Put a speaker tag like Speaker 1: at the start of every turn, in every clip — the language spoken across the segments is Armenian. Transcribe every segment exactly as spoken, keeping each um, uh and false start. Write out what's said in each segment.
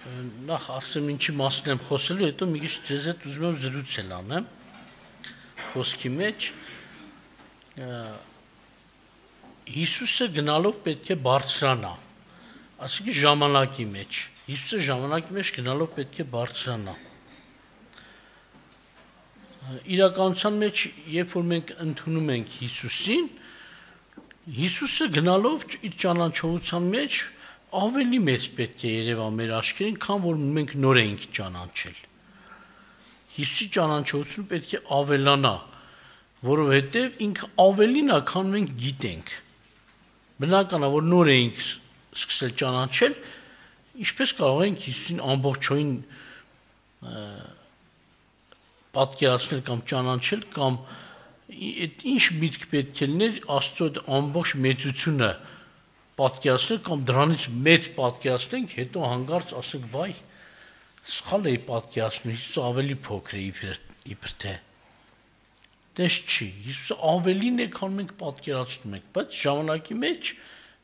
Speaker 1: նախ ասեմ ինչի մասին եմ խոսելու, հետո մի քիչ ձեզ հետ ուզում եմ զրույցել անեմ խոսքի մեջ։ Հիսուսը գնալով պետք է բարձրանա, այսինքն ժամանակի մեջ։ Հիսուսը ժամանակի մեջ գնալով պետք է բարձրանա։ Իրականության մեջ, երբ որ մենք ընդունում ենք Հիսուսին, Հիսուսը գնալով իր ճանաչողության մեջ ավելի մեծ պետք է երևա մեր աչքերին, քան որ մենք նոր ենք ճանաչել։ Հիսուսի ճանաչողությունը պետք է ավելանա, որովհետև ինքը ավելին է, քան մենք գիտենք։ Բնական է, որ նոր ենք սկսել ճանաչել, ինչպես կարող ենք Հիսուսին ամբողջովին պատկերացնել կամ ճանաչել, կամ ինչ միտք պետք է լիներ Աստծո ամբողջ մեծությունը պատկերացնել, կամ դրանից մեծ պատկերացնենք, հետո հանկարծ ասենք, վայ, սխալ էի պատկերացնում, Հիսուսը ավելի փոքր է իբր թե։ Դες չի, Հիսուսը ավելին է, քան մենք պատկերացնում ենք, բայց ժամանակի մեջ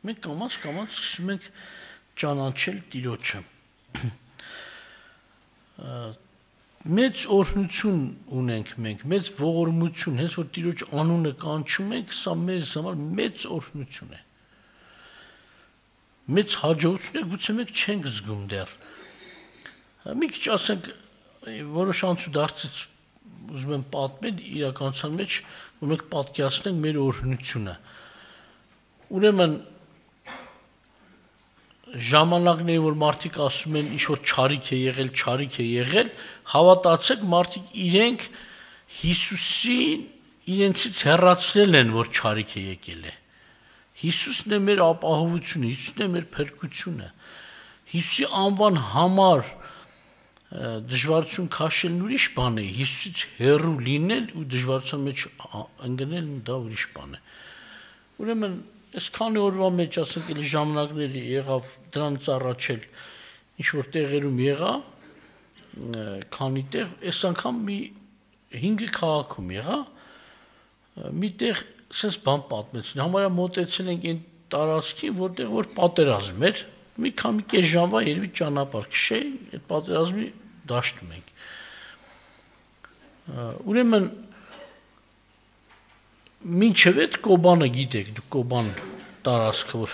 Speaker 1: մենք կամաց-կամաց սկսում ենք ճանաչել Տիրոջը։ Մեծ օրհնություն ունենք մենք, մեծ ողորմություն, հենց որ Տիրոջ անունը կանչում ենք, սա մեզ համար մեծ օրհնություն է։ Մեծ հաջողություն է, գուցե մենք չենք զգում դեռ։ Մի քիչ ասենք, որոշ անցուդարձից ուզում եմ պատմել իրականության մեջ, որ մենք պատկերացնենք մեր օրհնությունը։ Ուրեմն ժամանակների, որ մարդիկ ասում են, ինչ որ չարիք է եղել, չարիք է եղել, հավատացեք, մարդիկ իրենք Հիսուսին իրենցից հեռացրել են, որ չարիք է եկել է։ Հիսուսն է մեր ապահովությունը, Հիսուսն է մեր փրկությունը։ Հիսուսի անվան համար դժվարություն քաշելն ուրիշ բան է, Հիսուսից հեռու լինել ու դժվարության մեջ ընկնելն դա ուրիշ բան է։ Ուրեմն այս քանի օրվա մեջ, ասենք, էլի ժամանակների եղավ, դրանից առաջ էլ ինչ որ տեղերում եղա, քանի տեղ, այս անգամ մի հինգ քաղաքում եղա, մի տեղ սենց բան պատմեցին, համարյա մոտեցել ենք այն տարածքին, որտեղ որ պատերազմ էր, մի քանի կես ժամվա երևի ճանապարհ քշեի, այդ պատերազմի դաշտում ենք։ Ուրեմն մինչև այդ Կոբանը գիտեք, դուք Կոբան տարածքը, որ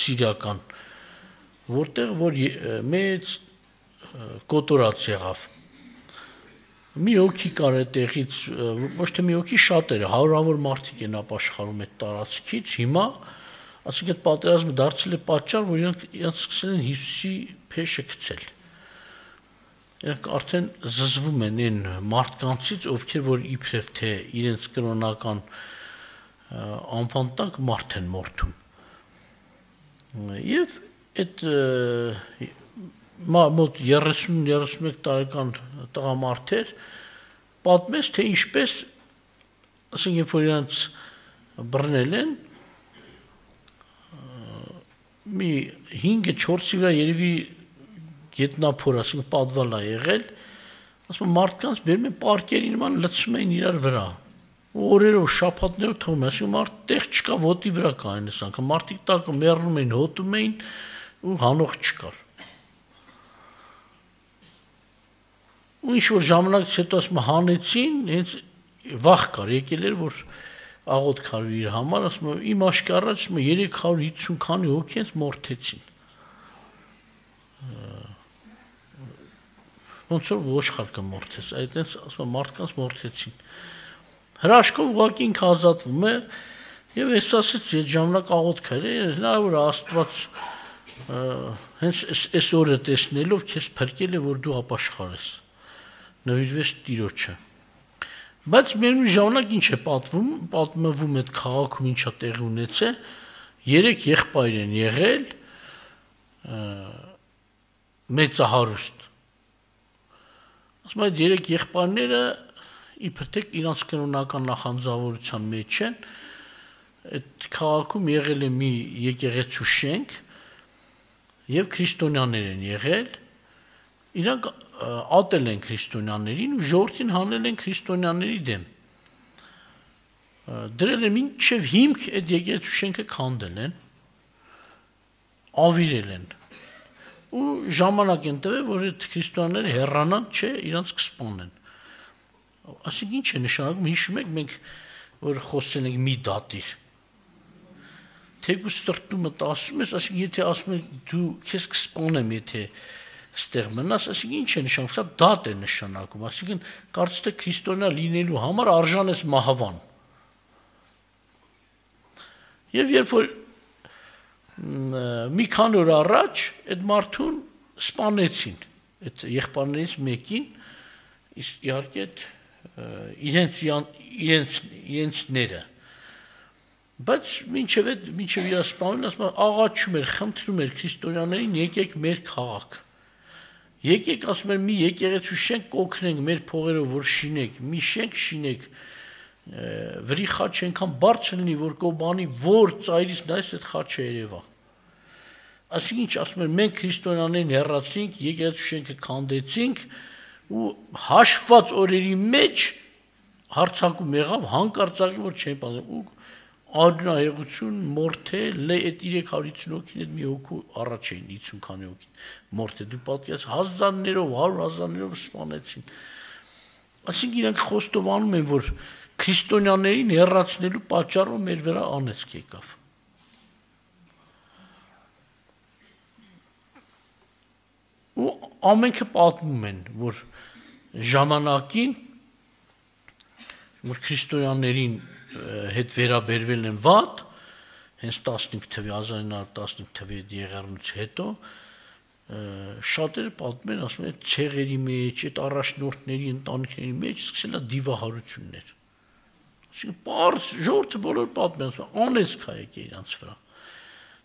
Speaker 1: սիրիական, որտեղ որ մեծ կոտորած եղավ։ Մի հոգի կար այդտեղից, ոչ թե մի հոգի, շատերը, հարյուրավոր մարդիկ են ապաշխարում այդ տարածքից, հիմա, ասենք այդ պատերազմը դարձել է պատճառ, որ իրանք իրանք սկսել են Հիսուսի փեշը գցել։ Իրանք արդեն զզվում են այն մարդկանցից, ովքեր որ իբրև թե իրենց կրոնական անվան տակ մարդ են մորթում։ Եվ այդ մոտ երեսուն երեսունմեկ տարեկան տղամարդեր պատմեց, թե ինչպես, ասենք, երբ որ իրանց բռնել են, մի հինգը չորսի վրա երևի գետնափոր, ասենք, պատվալ է եղել, ասում մարդկանց բերում են պարկերի նման լցում էին իրար վրա, օրերով, շաբաթներով թողում են, ասում մարդ տեղ չկա, ոտի վրա կային այս անգամ, մարդիկ տակը մեռնում էին, հոտում էին ու հանող չկար։ Ու ինչ որ ժամանակից հետո ասում հանեցին, հենց վախ կար, եկել էր, որ աղոտ քարվի իր համար, ասում իմ աշկի առաջ երեք հարյուր հիսուն քանի հոգի հենց մորթեցին։ Ոնց որ ոչխար կմորթես, այդպես ասում մարդկանց մորթեցին։ Հրաշքով ուղղակի ինքը ազատվում է, եւ ես ասեցի, այդ ժամանակ աղոտ քար է, հնարավոր է Աստված հենց այս օրը տեսնելով քեզ փրկել է, որ դու ապաշխարես։ Նվիրվես Տիրոջը։ Բայց միևնույն ժամանակ ինչ է պատվում, պատմվում այդ քաղաքում ինչա տեղի ունեցել, երեք եղբայր են եղել, մեծահարուստ։ Ասում այդ երեք եղբայրները իբր թե իրանց կրոնական նախանձավորության մեջ են, այդ քաղաքում եղել է մի եկեղեցու շենք եւ քրիստոնյաներ են եղել, իրանք ատել են քրիստոնյաներին ու ժողովրդին հանել են քրիստոնյաների դեմ։ Դրել են մինչև հիմք այդ եկեղեցու շենքը քանդել են, ավիրել են։ ու ժամանակ են տվել, որ այդ քրիստոնյաները հեռանան, չէ, իրանց կսպանեն։ Այսինքն ինչ է նշանակում, հիշում եք մենք որ խոսել ենք մի դատիր։ Թեկուզ սրտումդ ասում ես, այսինքն եթե ասում ես դու քեզ կսպանեմ, եթե ստեղ մնաս, այսինքն ինչ է նշանակում, սա դատ է նշանակում, այսինքն կարծես թե քրիստոնյա լինելու համար արժան ես մահվան։ Եվ երբ որ մի քանի օր առաջ այդ մարդուն սպանեցին, այդ եղբայրներից մեկին, իհարկե իրենց իրենց իրենցները, բայց մինչև այդ մինչև իր սպանելն ասում աղաչում էր, խնդրում էր քրիստոնյաներին եկեք մեր քաղաք, եկեք ասում էր մի եկեղեցու շենք կօգնենք մեր փողերով որ շինեք, մի շենք շինեք, վրի խաչը այնքան բարձր լինի, որ կոբանի որ ծայրից նայես այդ խաչը երևա։ Այսինքն ինչ ասում էր, մենք քրիստոնյաներին հեռացինք, եկեղեցու շենքը քանդեցինք ու հաշված օրերի մեջ հարցակում եղավ հանկարծակի որ չեն պատմում ու արյունահեղություն մորթել լե այդ երեք հարյուր հիսուն հոգին այդ մի հոգու առաջ էին հիսուն քանի հոգին մորթել դու պատկերացրու հազարներով հարյուր հազարներով սպանեցին այսինքն իրանք խոստովանում են որ քրիստոնյաներին հեռացնելու պատճառով մեր վրա անեծք եկավ ու ամենքը պատմում են որ ժամանակին որ քրիստոնյաներին հետ վերաբերվել են վատ, հենց տասնհինգ թվականի հազար ինը հարյուր տասնհինգ թվականի եղեռնուց հետո շատերը պատմեն, ասում են ցեղերի մեջ, այդ առաջնորդների ընտանիքների մեջ սկսել է դիվահարություններ։ Այսինքն պարզ ժողովուրդը բոլոր պատմեն, ասում են անեծք ա եկել իրանց վրա։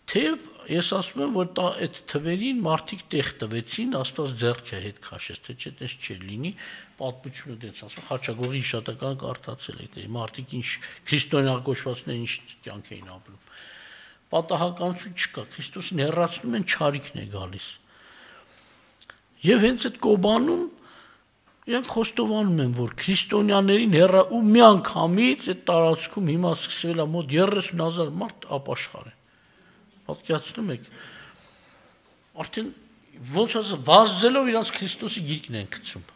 Speaker 1: Թեև ես ասում եմ, որ այդ թվերին մարդիկ տեղ տվեցին, Աստված ձեռքը հետ քաշեց, թե չէ տես չէր լինի, պատմությունը դից ասում, Խաչագողի հիշատականը կարդացել եք, մարդիկ ինչ քրիստոնյա կոչվածներ ինչ կյանք էին ապրում։ Պատահականություն չկա, Քրիստոսին հեռացնում են, չարիքն է գալիս։ Եվ հենց այդ Կոբանում իրանք խոստովանում են, որ քրիստոնյաներին հեռա ու միանգամից այդ տարածքում հիմա սկսվել է մոտ երեսուն հազար մարդ ապաշխարել։ Պատկերացնում եք, արդեն ոնց ասած վազելով իրանց Քրիստոսի գիրկն են գցում,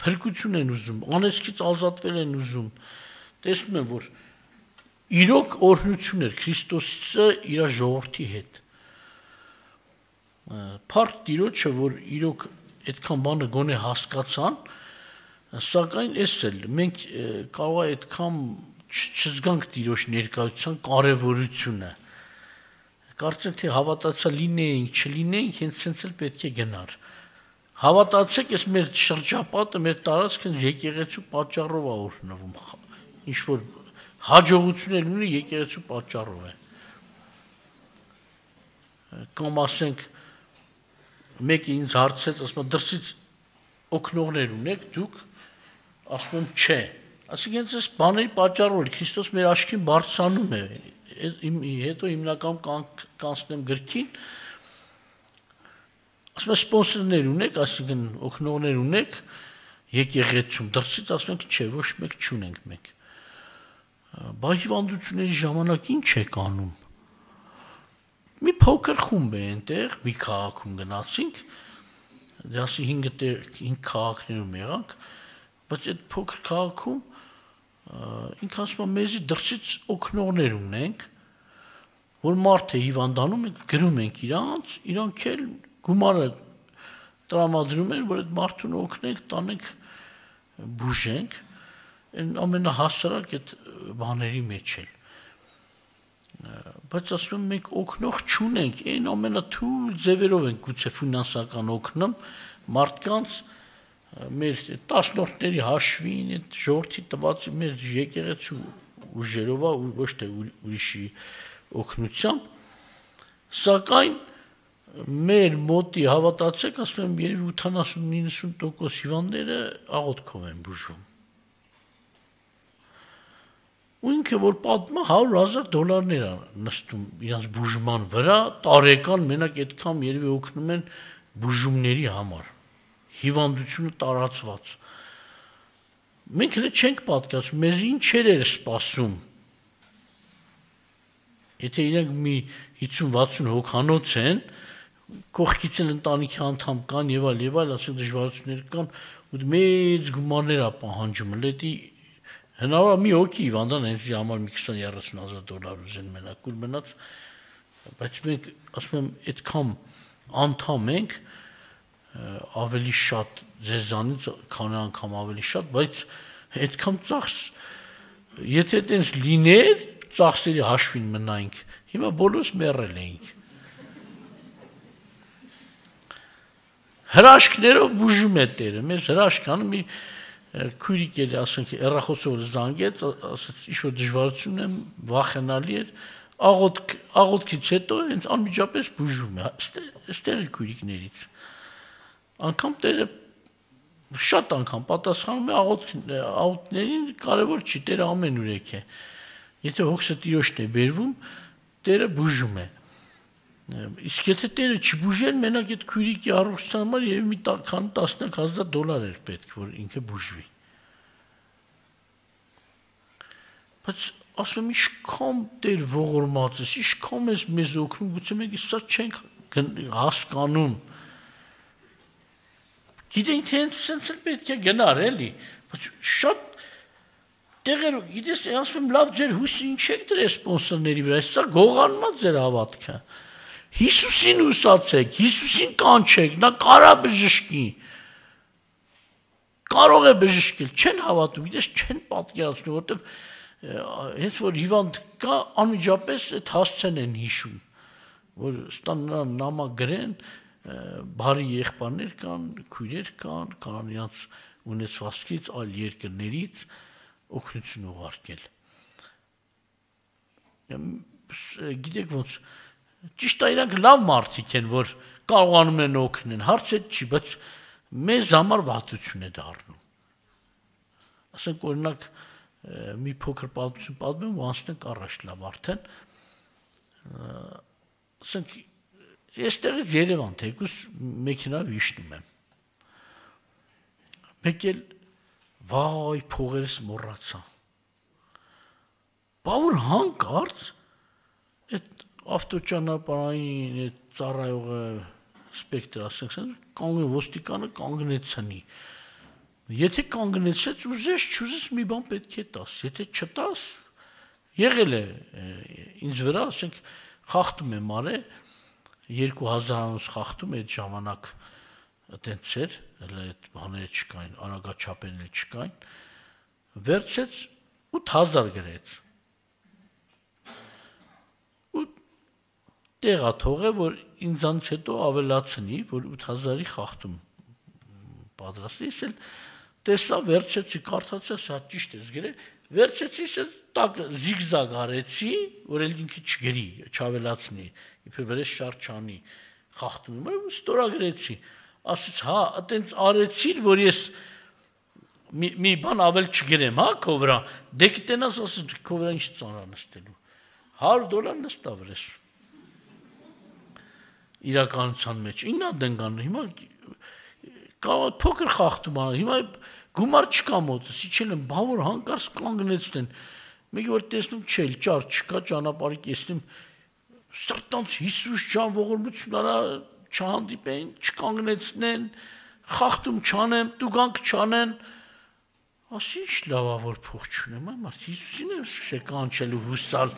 Speaker 1: փրկություն են ուզում, անեծքից ազատվել են ուզում, տեսնում են, որ իրոք օրհնություն էր Քրիստոսը իր ժողովրդի հետ։ Փառք Տիրոջը, որ իրոք այդքան բանը գոնե հասկացան, սակայն էս էլ մենք կարող է այդքան չզգանք Տիրոջ ներկայության կարևորությունը։ Կարծեմ թե հավատացյալ լինեինք, չլինեինք, հենց սենց էլ պետք է գնար։ Հավատացեք, այս մեր շրջապատը, մեր տարածքը եկեղեցու պատճառով է օրհնվում։ Ինչ որ հաջողություններ ունի եկեղեցու պատճառով է։ Կամ ասենք մեկը ինձ հարցեց, ասում է դրսից օգնողներ ունեք դուք, ասում եմ չէ։ Այսինքն այս բաների պատճառով Քրիստոս մեր աչքին բարձրանում է։ Հետո հիմնական կանցնեմ գրքին, ասում եմ սպոնսորներ ունեք, այսինքն օգնողներ ունեք եկեղեցում, դրսից ասում ենք չէ, ոչ մեկ չունենք մենք։ Բա հիվանդությունների ժամանակ ինչ եք անում։ Մի փոքր խումբ է այնտեղ, մի քաղաքում գնացինք, դասի հինգ քաղաքներում եղանք, բայց այդ փոքր քաղաքում ինքը ասում է մեզի դրսից օգնողներ ունենք, որ մարդ է հիվանդանում ենք, գրում ենք իրանց, իրանք էլ գումարը տրամադրում են, որ այդ մարդուն օգնենք, տանենք, բուժենք, ամենահասարակ այդ բաների մեջ էլ։ Բայց ասում եմ մենք օգնող չունենք, այն ամենաթույլ ձևերով ենք գուցե ֆինանսական օգնում մարդկանց մեր տասնորդների հաշվին, այդ ժողովրդի տված մեր եկեղեցու ուժերով ու ոչ թե ուրիշի օգնությամբ, սակայն մեր մոտի հավատացեք, ասում եմ երևի ութանասուն նինսուն տոկոս հիվանդները աղոթքով են բուժվում։ Ու ինքը որ պատմա հարյուր հազար դոլարներ է նստում իրանց բուժման վրա, տարեկան մենակ այդքան երևի օգնում են բուժումների համար, հիվանդությունը տարածված։ Մենք հենց չենք պատկերացնում, մեզ ինչեր էր սպասում։ Եթե իրենք մի հիսուն վաթսուն հոգանոց են, կողքից էլ ընտանիքի անդամ կան եւ այլ եւ այլ, ասենք դժվարություններ կան, ու մեծ գումարներ է պահանջում, լետի հնարավոր է մի հոգի հիվանդան հենց իր համար մի քսան երեսուն հազար դոլար ուզեն մենակ ուր մնաց, բայց մենք ասում եմ այդքան անդամ ենք ավելի շատ ձեզանից քանի անգամ ավելի շատ, բայց այդքան ծախս եթե այդպես լիներ, ծախսերի հաշվին մնայինք, հիմա բոլորս մեռել էինք։ Հրաշքներով բուժում է Տերը, մեզ հրաշքանը մի քույրիկ էլի, ասենք, հեռախոսով զանգեց, ասաց, ինչ-որ դժվարություն եմ, վախենալի էր, աղոթքից հետո հենց անմիջապես բուժվում է, այստեղի քույրիկներից։ Անգամ Տերը շատ անգամ պատասխանում է աղոթքներին, կարևոր չի, Տերը ամենուրեք է։ Եթե հոգսը Տիրոջն է բերվում, Տերը բուժում է։ Իսկ եթե Տերը չբուժեր, մենակ այդ քույրիկի առողջության համար եւ մի քանի տասնյակ հազար դոլար էր պետք, որ ինքը բուժվի։ Բայց ասում եմ, ինչքան Տեր ողորմած է, ինչքան ես մեզ օգնում, գուցե մենք սա չենք հասկանում։ Գիտենք, թե հենց սենց էլ պետք է գնար, էլի, բայց շատ տեղեր, գիտես, ասում եմ, լավ ձեր հույսը ինչ եք դրել սպոնսորների վրա, սա գողանմա ձեր հավատքը։ Հիսուսին ուսացեք, Հիսուսին կանչեք, նա կարա բժշկի, կարող է բժշկել, չեն հավատում, գիտես, չեն պատկերացնում, որտեվ հենց որ հիվանդ կա, անմիջապես այդ հասցեն են հիշում, որ ստան նրան նամակ գրեն, բարի եղբայրներ կան, քույրեր կան, կան իրանց ունեցվածքից, այլ երկրներից օգնություն ուղարկել։ Գիտեք ոնց, ճիշտ է իրանք լավ մարդիկ են, որ կարողանում են օգնել, հարց այդ չի, բայց մեզ համար վատություն է դառնում։ Ասենք օրինակ մի փոքր պատմություն պատմեմ ու անցնենք առաջ լավ արդեն։ Ասենք այստեղից Երևան թեկուզ մեքենայով իջնում եմ։ Մեկ էլ վայ փողերս մոռացա։ Բա որ հանկարծ այդ ավտոճանապարհային այդ ծառայողը սպեկտր ասենք, կանգն ոստիկանը կանգնեցնի։ Եթե կանգնեցեց, ուզես չուզես մի բան պետք է տաս, եթե չտաս, եղել է ինձ վրա, ասենք, խախտում եմ արել, երկու հազարանոց խախտում այդ ժամանակ այդպես էր, հələ այդ բաները չկային, արագաչափերն չկային, վերցեց ութ հազար գրեց։ Ու տեղա թողե, որ ինձանից հետո ավելացնի, որ ութ հազարի խախտում պատրաստի, ես էլ տեսա, վերցեցի, կարդացի, հա ճիշտ ես գրել, վերցեցի, ես տակ զիգզագ արեցի, որ էլ ինքը չգրի, չավելացնի, իբր վրես շարժ չանի, խախտում եմ, ստորագրեցի, ասեց, հա, այտենց արեցիր, որ ես մի բան ավել չգրեմ, հա, քո վրա, դե կտենաս, ասեց, քո վրա ինչ ծանր նստելու, հարյուր դոլար նստա վրես, իրականության մեջ, իննա դենգան, հիմա կարող փոքր խախտում ան, հիմա գումար չկա մոտս, իջել եմ, բա որ հանկարծ կանգնեցնեն, մեկ որ տեսնում չէ, ճար չկա, ճանապարհի կեսնում, սրտանց Հիսուս ջան ողորմություն արա, չհանդիպեն, չկանգնեցնեն, խախտում չանեմ, տուգանք չանեն, ասի ինչ լավ է որ փող չունեմ, այ մարդ Հիսուսին եմ սկսել կանչել ու հուսալ,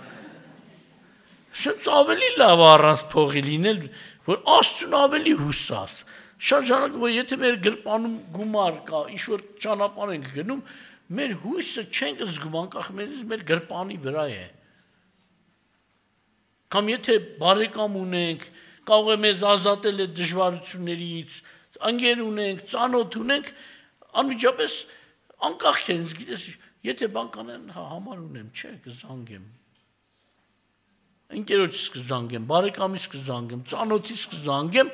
Speaker 1: սենց ավելի լավ առանց փողի լինել, որ Աստծուն ավելի հուսաս, շատ ժամանակ, որ եթե մեր գրպանում գումար կա, ինչ-որ ճանապարհ ենք գնում, մեր հույսը չենք զգում, անկախ մեզից մեր գրպանի վրա է։ Կամ եթե բարեկամ ունենք, կարող է մեզ ազատել այդ դժվարություններից, ընկեր ունենք, ծանոթ ունենք, անմիջապես անկախ ենք, գիտես, եթե բան կանեն, հա համար ունեմ, չէ, կզանգեմ։ Ընկերոջս կզանգեմ, բարեկամից կզանգեմ, ծանոթից կզանգեմ,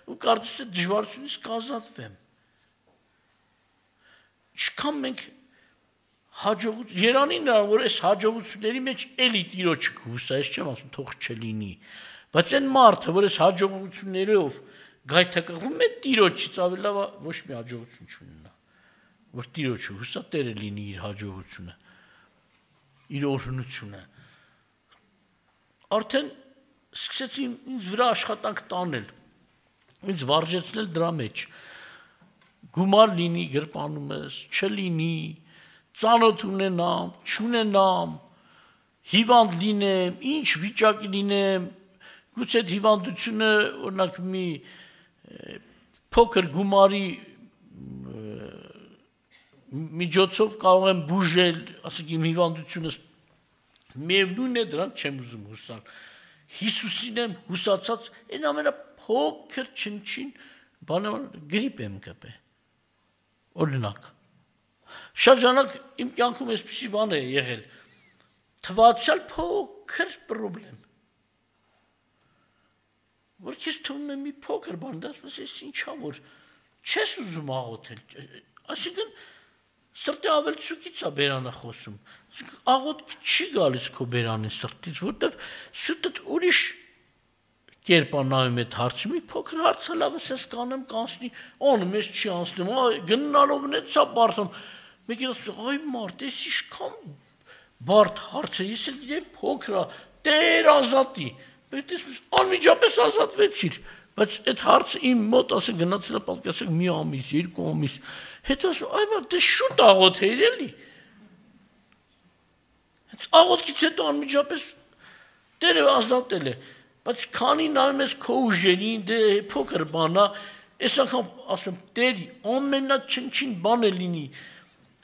Speaker 1: ու կարծես թե դժվարությունից կազատվեմ։ Ինչքան մենք հաջողություն, Երանի նրան, որ այս հաջողությունների մեջ էլի Տիրոջը կհուսա, ես չեմ ասում, թող չլինի, բայց այն մարդը, որ այս հաջողություններով գայթակղվում է Տիրոջից, ավելի լավ ոչ մի հաջողություն չունենա, որ Տիրոջը հուսա, Տերը լինի իր հաջողությունը, իր օրհնությունը։ Արդեն սկսեցի ինձ վրա աշխատանք տանել, ինձ վարժեցնել դրա մեջ։ Գումար լինի գրպանում ես, չլինի, ծանոթ ունենամ, չունենամ, հիվանդ լինեմ, ինչ վիճակի լինեմ, գուցե այդ հիվանդությունը օրինակ մի փոքր գումարի միջոցով կարող եմ բուժել, ասենք իմ հիվանդությունս միևնույն է դրանք չեմ ուզում հուսալ։ Հիսուսին եմ հուսացած, այն ամենափոքր չնչին բանը գրիպ եմ կպե։ Օրինակ։ Շատ ժամանակ իմ կյանքում այսպիսի բան է եղել։ Թվացյալ փոքր պրոբլեմ։ Որ քեզ թվում է մի փոքր բան, դա ասես էս ինչա որ չես ուզում աղոթել։ Այսինքն սրտի ավելցուկից է բերանը խոսում։ Աղոթք չի գալիս քո բերանի սրտից, որտեվ սրտդ ուրիշ կերպ է նայում այդ հարցը, մի փոքր հարց է լավ ես կանեմ կանցնի, անը մեզ չի անցնում, գնալով նեցա բարդամ։ Մեկին ասում, այ մարդ, ես իշքան բարդ հարց է, ես էլ գիտեմ փոքր է, Տեր ազատի։ Բայց ես անմիջապես ազատվեցիր։ Բայց այդ հարցը իմ մոտ ասել գնացել է պատկասեք մի ամիս, երկու ամիս։ Հետո ասում, այ բա դե շուտ աղոթեիր էլի։ Հենց աղոթքից հետո անմիջապես Տերը ազատել է։ Բայց քանի նայում ես քո ուժերին, դե փոքր բան է, այս անգամ ասում Տեր ամենաչնչին բանը լինի։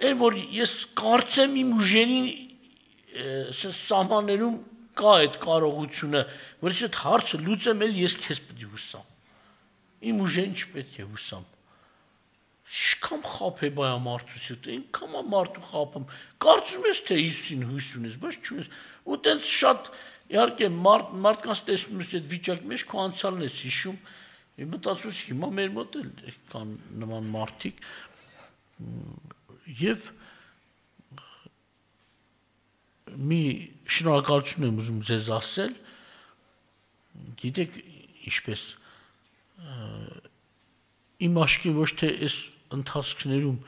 Speaker 1: Այն որ ես կարծեմ իմ ուժերին սահմաններում կա այդ կարողությունը, որ ես այդ հարցը լուծեմ էլ ես քեզ պետք է հուսամ։ Իմ ուժեն չպետք է հուսամ։ Ինչքան խափ է բայա մարդու սիրտը, ինքան է մարդու խափում։ Կարծում ես թե Հիսուսին հույս ունես, բայց չունես։ Ու տենց շատ իհարկե մարդ մարդկանց տեսնում ես այդ վիճակի մեջ քո անցյալն ես հիշում։ Իմ մտածում ես հիմա մեր մոտ էլ կան նման մարդիկ եւ մի շնորհակալություն եմ ուզում ձեզ ասել, գիտեք ինչպես իմ աչքի ոչ թե այս ընթացքներում,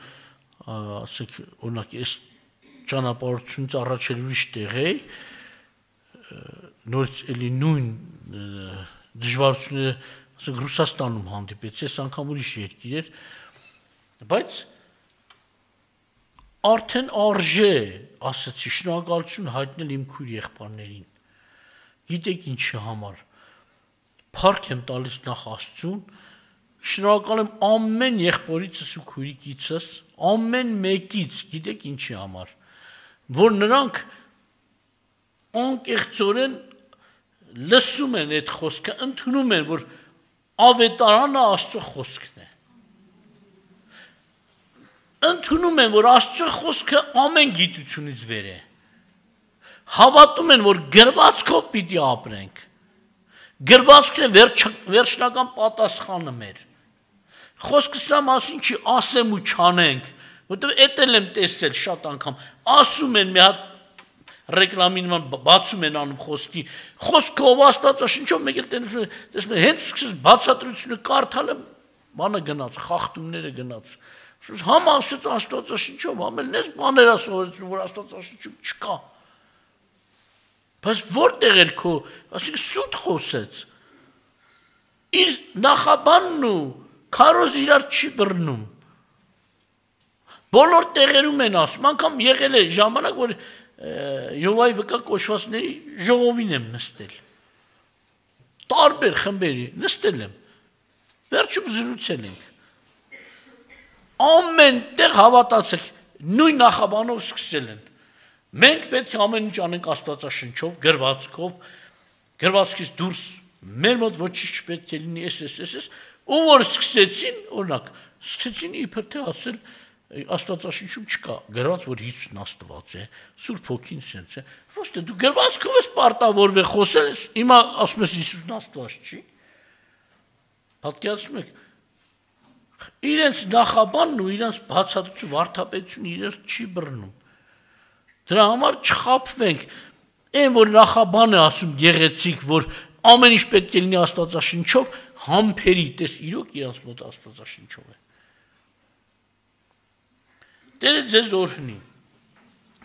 Speaker 1: ասենք օրինակ այս ճանապարհությունից առաջ էլ ուրիշ տեղ էի, նորից էլի նույն դժվարությունները, ասենք Ռուսաստանում հանդիպեցի, այս անգամ ուրիշ երկիր էր, բայց արդեն արժե, ասացի, շնորհակալություն հայտնել իմ քույր եղբայրներին։ Գիտեք ինչի համար։ Փառք եմ տալիս նախ Աստծուն, շնորհակալ եմ ամեն եղբայրիցս ու քույրիկիցս, ամեն մեկից, գիտեք ինչի համար, որ նրանք անկեղծորեն լսում են այդ խոսքը, ընդունում են, որ ավետարանը Աստծո խոսքն է։ Ընդունում են, որ Աստծո խոսքը ամեն գիտությունից վեր է։ Հավատում են, որ գրվածքով պիտի ապրենք։ Գրվածքն է վերջ, վերջնական պատասխանը մեր։ Խոսքս նա մասին չի ասեմ ու չանենք, որտեղ էդ էլ եմ տեսել շատ անգամ։ Ասում են մի հատ ռեկլամին բացում են անում խոսքի։ Խոսքով Աստվածաշնչով մեկ էլ տեսնում հենց սկսես բացատրությունը կարդալ եմ, բանը գնաց, խախտումները գնաց։ Համ ասեց Աստվածաշնչով, համ էլ ես բաներ ասովորեցնում, որ Աստվածաշնչում չկա։ Բայց որտեղ էր քո, ասենք սուտ խոսեց։ Իր նախաբանն ու քարոզ իրար չի բռնում։ Բոլոր տեղերում են ասում, անգամ եղել է ժամանակ, որ Եհովայի վկա կոչվածների ժողովին եմ նստել։ Տարբեր խմբերի նստել եմ։ Վերջում զրուցել ենք։ Ամեն տեղ հավատացեք, նույն նախաբանով սկսել են։ Մենք պետք է ամեն ինչ անենք Աստվածաշնչով, գրվածքով, գրվածքից դուրս մեր մոտ ոչինչ չպետք է լինի, էս էս էս, ու որ սկսեցին, օրինակ, սկսեցին իբր թե ասել Աստվածաշնչում չկա, գրված որ Հիսուսն Աստված է, Սուրբ Հոգին սենց է։ Ոչ թե դու գրվածքով ես պարտավորվել խոսել, հիմա ասում ես Հիսուսն Աստված չի։ Պատկերացնում եք, իրենց նախաբանն ու իրենց բացատրություն վարդապետությունը իրենց չի բռնում։ Դրա համար չխաբվենք, այն որ նախաբանը ասում գեղեցիկ, որ ամեն ինչ պետք է լինի Աստվածաշնչով, համբերի, տես իրոք իրենց մոտ Աստվածաշնչով է։ Տերը ձեզ օրհնի։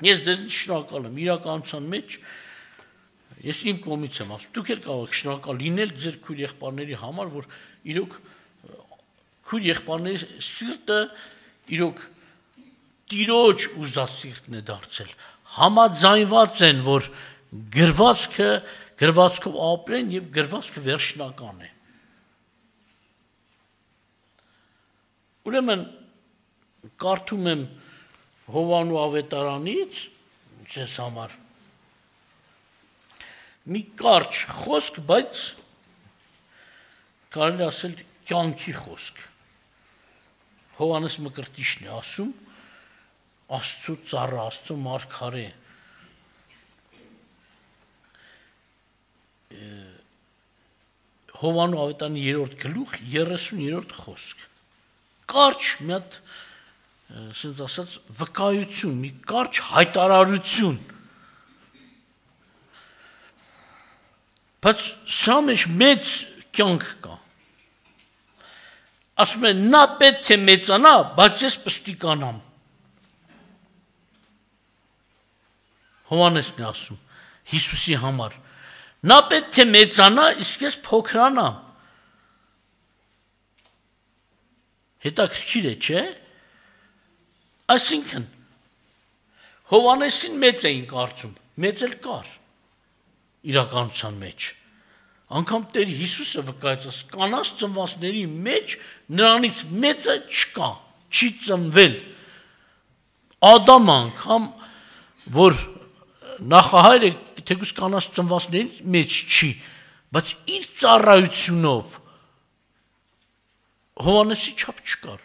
Speaker 1: Ես ձեզ շնորհակալ եմ իրականության մեջ, ես իմ կողմից եմ ասում, դուք էլ կարող եք շնորհակալ լինել ձեր քույր եղբայրների համար, որ իրոք քույր եղբայրների սիրտը իրոք տիրոջ ուզած սիրտն է դարձել, համաձայնված են, որ գրվածքը գրվածքով ապրեն եւ գրվածքը վերջնական է։ Ուրեմն կարդում եմ Հովանու ավետարանից ձեզ համար մի կարճ խոսք, բայց կարելի ասել կյանքի խոսք։ Հովանես Մկրտիչն է ասում, Աստծո ծառա, Աստծո մարգարե, Հովանու ավետարանի երրորդ գլուխ երեսուներորդ խոսք։ Կարճ մի հատ, ասենց ասած, վկայություն, մի կարճ հայտարարություն։ Բայց սա մեջ մեծ կյանք կա։ Ասում է, նա պետք է մեծանա, բայց ես պստիկանամ։ Հովանեսն է ասում, Հիսուսի համար։ Նա պետք է մեծանա, իսկ ես փոքրանամ։ Հետաքրքիր է, չէ՞։ Այսինքն, Հովանեսին մեծ էին կարծում, մեծ էլ կար իրականության մեջ։ Անգամ Տեր Հիսուսը վկայեց, կանանց ծնվածների մեջ նրանից մեծը չկա, չի ծնվել։ Ադամ անգամ, որ նախահայրը թեկուզ կանանց ծնվածներից մեջ չի, բայց իր ծառայությունով Հովանեսի չափ չկար,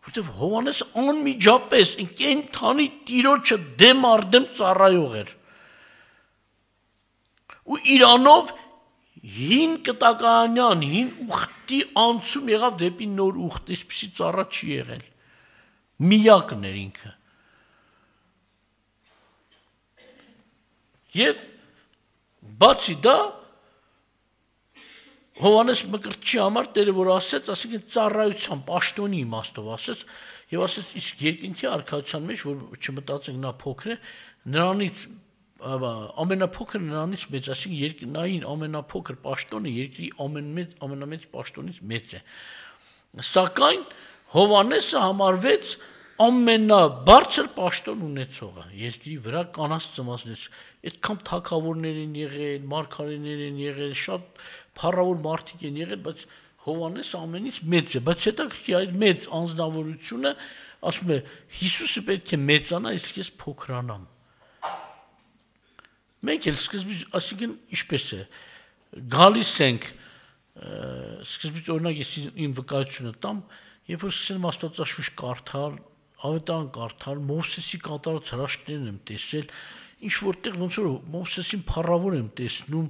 Speaker 1: որտեղ Հովանեսը անմիջապես կենդանի Տիրոջը դեմ առ դեմ ծառայող էր։ Ու իրանով հին կտականյան, հին ուխտի անցում եղավ դեպի նոր ուխտ, այսպիսի ծառա չի եղել։ Միակն էր ինքը։ Եվ բացի դա Հովանես Մկրտչի համար Տերը որ ասեց, ասիկին ծառայության պաշտոնի իմաստով ասեց, եւ ասեց իսկ երկինքի արքայության մեջ, որ չմտածենք նա փոքր է, նրանից ամենափոքր նրանից մեծ, ասիկին երկնային ամենափոքր պաշտոնը երկրի ամենամեծ ամենամեծ պաշտոնից մեծ է։ Սակայն Հովանեսը համարվեց ամենաբարձր պաշտոն ունեցողը երկրի վրա կանանց ծնվածներից, այդքան թագավորներ են եղել, մարգարեներ են եղել, շատ փառավոր մարդիկ են եղել, բայց Հովանեսը ամենից մեծ է, բայց հետաքրքիր այդ մեծ անձնավորությունը ասում է Հիսուսը պետք է մեծանա, իսկ ես փոքրանամ։ Մենք էլ սկզբից, ասիկին ինչպես է, գալիս ենք, սկզբից օրինակ ես իմ վկայությունը տամ, երբ որ սկսել եմ Աստվածաշունչ կարդալ, ավետարան կարդալ, Մովսեսի կատարած հրաշքներն եմ տեսել, ինչ որտեղ ոնց որ Մովսեսին փառավոր եմ տեսնում,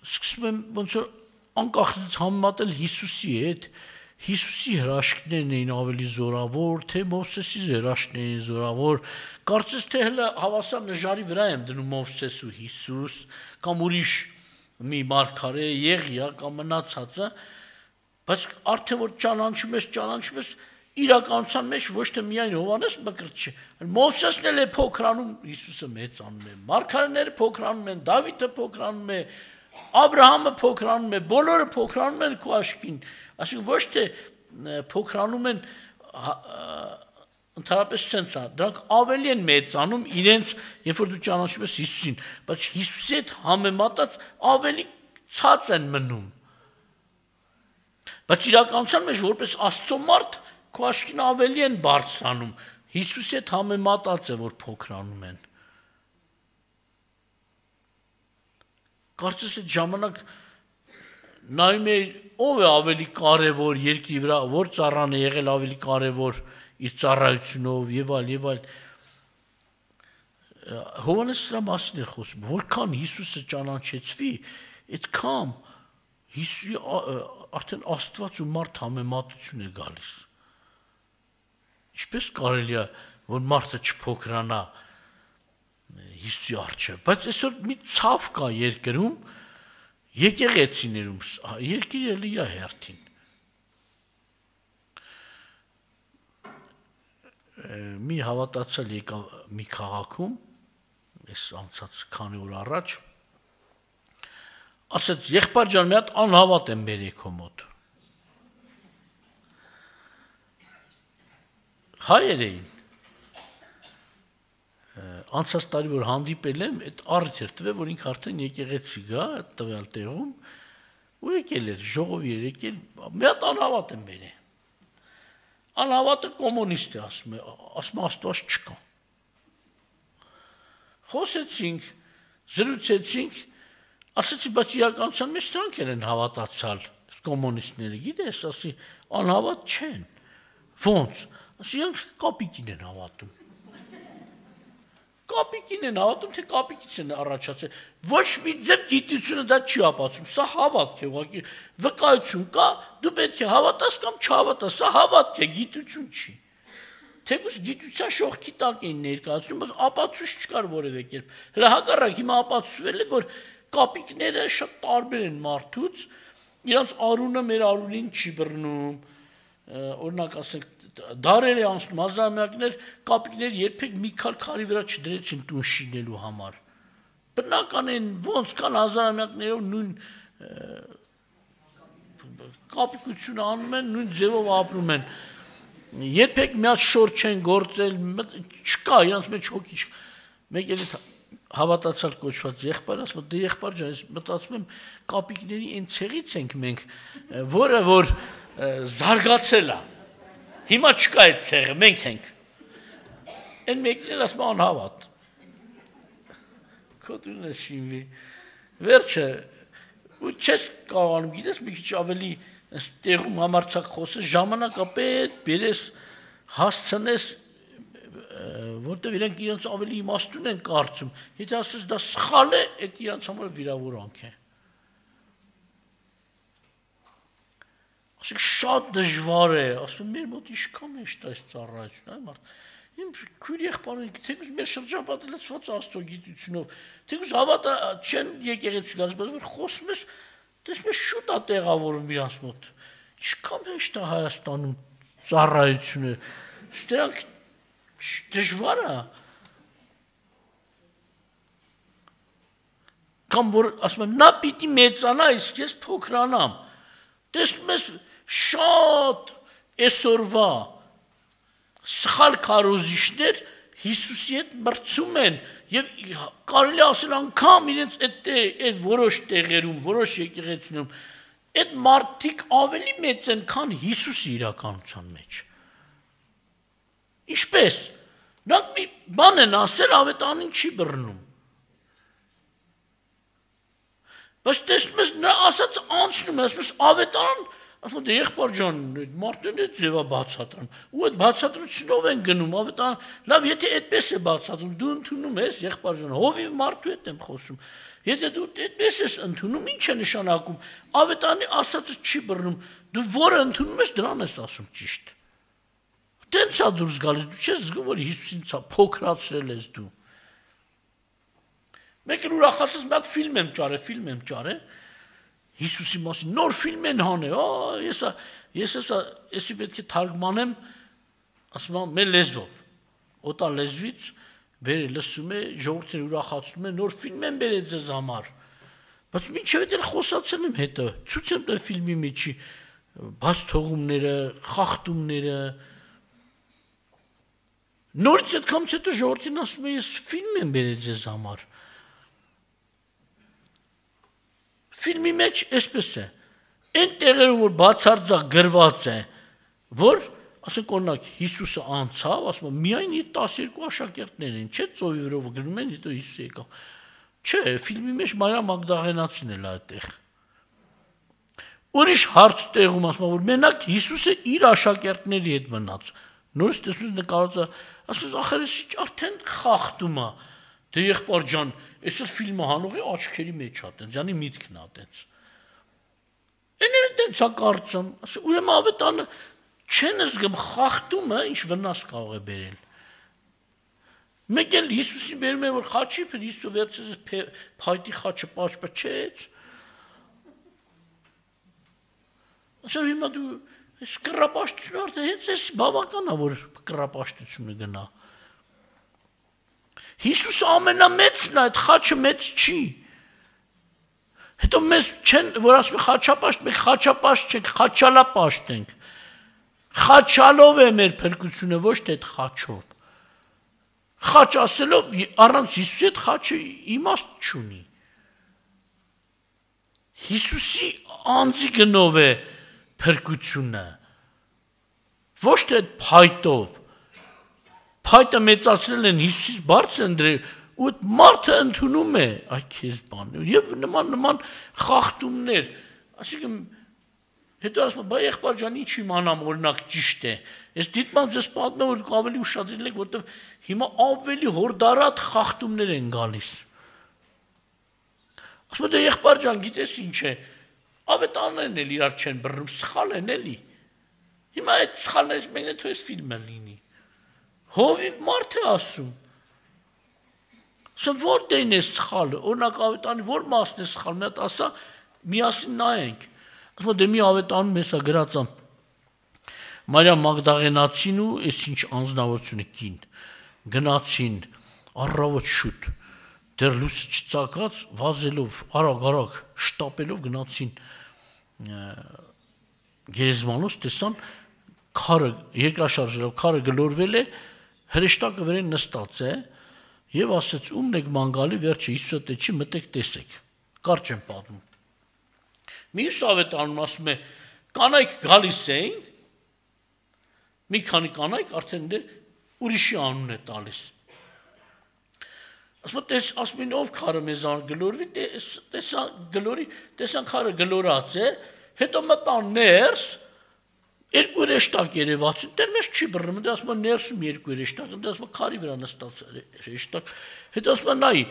Speaker 1: սկսում եմ ոնց որ անկախից համեմատել Հիսուսի հետ, Հիսուսի հրաշքներն էին ավելի զորավոր, թե Մովսեսի հրաշքներն էին զորավոր, կարծես թե հələ հավասար նժարի վրա եմ դնում Մովսես ու Հիսուս, կամ ուրիշ մի մարգարե, Եղիա կամ մնացածը, բայց արդեն որ ճանաչում ես, ճանաչում ես իրականության մեջ ոչ թե միայն Հովանես Մկրտիչը, այլ Մովսեսն էլ է փոքրանում, Հիսուսը մեծանում է, մարգարեները փոքրանում են, Դավիթը փոքրանում է, Աբրահամը փոքրանում է, բոլորը փոքրանում են քո աչքին, այսինքն ոչ թե փոքրանում են ընդհանրապես sense-ը, դրանք ավելի են մեծանում իրենց, երբ որ դու ճանաչում ես Հիսուսին, բայց Հիսուսի հետ համեմատած ավելի ցած են մնում։ Բայց իրականության մեջ որպես Աստծո մարդ քո աչքին ավելի են բարձրանում, Հիսուսի հետ համեմատած է, որ փոքրանում են։ Կարծես այդ ժամանակ նայում էի ով է ավելի կարևոր երկրի վրա, որ ծառան է եղել ավելի կարևոր իր ծառայությունով եւ այլ եւ այլ։ Հովանես սրա մասին է խոսում, որքան Հիսուսը ճանաչեցվի, այդքան Հիսուսի արդեն Աստված ու մարդ համեմատություն է գալիս։ Ինչպես կարելի է, որ մարդը չփոքրանա Հիսուսի առջև, բայց այսօր մի ցավ կա երկրում, եկեղեցիներում, երկիրը էլ իր հերթին։ Մի հավատացյալ եկավ մի քաղաքում, այս անցած քանի օր առաջ, ասեց եղբայր ջան, մի հատ անհավատ եմ բերեք քո մոտ։ հայեր էին։ Անցած տարի որ հանդիպել եմ, այդ առիթ էր տվել, որ ինքը արդեն եկեղեցի գա, այդ տվյալ տեղում, ու եկել էր, ժողովի էր եկել, մի հատ անհավատ եմ բերել։ Անհավատը կոմունիստ է, ասում է, ասում Աստված չկա։ Խոսեցինք, զրուցեցինք, ասեցի, բայց իրականության մեջ սրանք են հավատացալ, կոմունիստները, գիտես, ասի, անհավատ չեն, ոնց, ասի, իրանք կապիկին են հավատում, կապիկին են հավատում, թե կապիկից են առաջացել, ոչ մի ձև գիտությունը դա չի ապացում, սա հավատք է, ուղղակի վկայություն կա, դու պետք է հավատաս կամ չհավատաս, սա հավատք է, գիտություն չի, թեկուզ գիտության շողքի տակ էին ներկայացնում, բայց ապացույց չկար որևէ կերպ, հələ հակառակ հիմա ապացուցվել է, որ կապիկները շատ տարբեր են մարդուց, իրանց արունը մեր արունին չի բռնում, օրինակ ասենք, դարեր է անցնում, հազարամյակներ, կապիկներ երբեք մի քար քարի վրա չդրեցին տուն շինելու համար, բնական են, ոնց կան հազարամյակներով նույն կապիկությունը անում են, նույն ձևով ապրում են, երբեք մի հատ շոր չեն գործել, չկա, իրանց մեջ հոգի չկա, մեկ էլ հավատացյալ կոչված եղբայր, ասում եմ, դե եղբայր ջան, ես մտածում եմ, կապիկների այն ցեղից ենք մենք, որը որ զարգացել է։ Հիմա չկա այդ ցեղը, մենք ենք։ Այն մեկն էլ ասում անհավատ։ Քոթունը շինվի։ Վերջը, ու չես կարողանում, գիտես, մի քիչ ավելի տեղում համարձակ խոսես, ժամանակը պետք բերես, հասցնես, որտեղ իրենք իրենց ավելի իմաստուն են կարծում, եթե ասես դա սխալ է, այդ իրենց համար վիրավորանք է։ Ասեք շատ դժվար է, ասում մեր մոտ իշքան է շտա այս ծառայություն, այ մարդ, իմ քույր եղբայրը, թեկուզ մեր շրջապատը լցված Աստծո գիտությունով, թեկուզ հավատա չեն եկեղեցի գալիս, բայց որ խոսում ես, տեսնում ես շուտ է տեղավորում իրանց մոտ, իշքան է շտա Հայաստանում ծառայությունը, դրանք դժվար է, կամ որ ասում եմ, նա պիտի մեծանա, իսկ ես փոքրանամ, տեսնում ես շատ այսօրվա սխալ քարոզիչներ Հիսուսի հետ մրցում են եւ կարելի ասել անգամ իրենց այդ որոշ տեղերում, որոշ եկեղեցիներում այդ մարդիկ ավելի մեծ են, քան Հիսուսի իրականության մեջ։ Ինչպես նրանք մի բան են ասել, ավետանին չի բռնում։ Բայց տեսնում ես նա ասած անցնում է, ասում ես ավետարան, ասում դե եղբայր ջան, մարդն է ձևա բացատրում, ու այդ բացատրությունով են գնում, ավետարան, լավ, եթե այդպես է բացատրում, դու ընդունում ես, եղբայր ջան, հովիվ մարդու հետ եմ խոսում, եթե դու այդպես ես ընդունում, ինչ է նշանակում, ավետարանի ասածը չի բռնում, դու որը ընդունում ես, դրան ես ասում ճիշտ։ Տենց է դուրս գալիս, դու չես զգում, որ Հիսուսին փոքրացրել ես դու։ Մեկ էլ ուրախացած մի հատ ֆիլմ եմ ճարել, ֆիլմ եմ ճարել, Հիսուսի մասին նոր ֆիլմ են հանել, ես ես էսի պետք է թարգմանեմ, ասում եմ, մեր լեզվով, օտար լեզվից, բերել լսում է, ժողովուրդին ուրախացնում է, նոր ֆիլմ են բերել ձեզ համար, բայց մինչև էլ խոսացել եմ հետո, ցույց եմ տվել ֆիլմի միջի բաց թողումները, խախտումները, նորից այդքանից հետո ժողովրդին ասում է, ես ֆիլմ եմ բերել ձեզ համար։ Ֆիլմի մեջ այսպես է, այն տեղերում, որ բացարձակ գրված է, որ, ասենք օրինակ, Հիսուսը անցավ, ասում եմ, միայն իր տասներկու աշակերտներ են, չէ՞ ծովի վրով գրում են, հետո Հիսուս եկավ։ Չէ, ֆիլմի մեջ Մարիամ Մագդաղենացին էլ այդտեղ։ Ուրիշ հարց տեղում ասում, որ մենակ Հիսուսը իր աշակերտների հետ մնաց։ Նորից տեսնում ես նկարածը, ասում ես, ախր էս արդեն խախտում է։ Դե եղբայր ջան, այս էլ ֆիլմը հանողի աչքերի մեջ է, տենց, յանի միտքն է, տենց։ Էները տենց է կարծում, ասում, ուրեմն ավետանը չեն զգում խախտումը, ինչ վնաս կարող է բերել։ Մեկ էլ Հիսուսին բերում է, որ խաչի, Հիսուսը վերցրեց փայտի խաչը պաշպչեց։ Ասում հիմա դու այս կռապաշտությունը արդեն հենց էս բավական է, որ կռապաշտությունը գնա։ Հիսուսը ամենամեծն է, այդ խաչը մեծ չի։ Հետո մեզ չեն, որ ասում է խաչապաշտ, մենք խաչապաշտ չենք, խաչալապաշտ ենք։ Խաչալով է մեր փրկությունը, ոչ թե այդ խաչով։ Խաչ ասելով առանց Հիսուսի այդ խաչը իմաստ չունի։ Հիսուսի անձի գնով է փրկությունը, ոչ թե այդ փայտով։ Փայտը մեծացրել են Հիսուսից բարձր ընդրել, ու այդ մարդը ընդունում է այ քեզ բան։ Եվ նման նման խախտումներ, այսինքն հետո ասում եմ, բա եղբայր ջան, ինչ իմանամ, օրինակ ճիշտ է։ Ես դիտմամբ ձեզ պատմեմ, որ ավելի ուշադրել եք, որտեղ հիմա ավելի հորդարատ խախտումներ են գալիս։ Ասում եմ, դե եղբայր ջան, գիտես ինչ է, ավետարաններն էլ իրար չեն բռնում, սխալ են էլի։ Հիմա այդ սխալներից մեկն է թող այս ֆիլմը լինի։ Հովիվ մարդ է ասում։ Ասում որտեղն է սխալը, օրինակ ավետարանի որ մասն է սխալ, մի հատ ասա, միասին նայենք։ Ասում եմ, դե մի ավետանում հեսա գրած է Մարիամ Մագդաղենացին ու այս ինչ անձնավորությունը կին գնացին առավոտ շուտ դեռ լույսը չծագած վազելով արագ-արագ շտապելով գնացին գերեզմանոց տեսան քարը երկրաշարժերով քարը գլորվել է հրեշտակը վրան նստած է եւ ասեց ումն եք ման գալի վերջը Հիսուսը դե չի մտեք տեսեք կարճ եմ պատմում Մյուս ավետարանում ասում է կանայք գալիս էին մի քանի կանայք արդեն դե ուրիշի անուն է տալիս ասում է տես ասում են ով քարը մեզան գլորվի տեսա գլորի տեսան քարը գլորած է հետո մտան ներս երկու հրեշտակ երևաց դեռ մեզ չի բռնում դե ասում է ներսում երկու հրեշտակ դե ասում է քարի վրա նստած հրեշտակ հետո ասում է նայ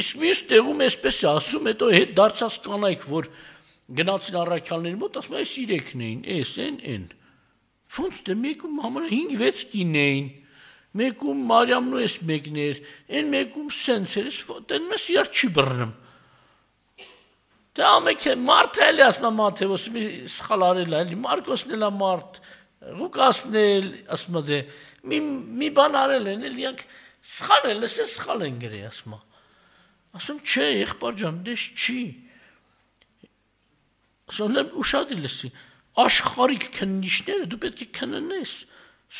Speaker 1: իսկ մյուս տեղում էսպես է ասում հետո հետ դարձած կանայք որ գնացին առաքյալների մոտ, ասում այս իրեքն էին, էս են, են։ Ոնց դե մեկում համար հինգ վեց կին էին, մեկում Մարիամն ու էս մեկն էր, են մեկում սենց էր, դեն մեզ իրար չի բռնում։ Դե ամեք է, մարդ էլ է ասում Մաթեոսը, մի սխալ արել է, Մարկոսն էլ է մարդ, Ղուկասն էլ, ասում դե, մի բան արել են, էլ իրանք սխալ են, լսե սխալ են գրի, ասում ասում չէ, եղբայր ջան, դες չի Ասում ուշադրել ես աշխարհիկ քննիչները դու պետք է քննես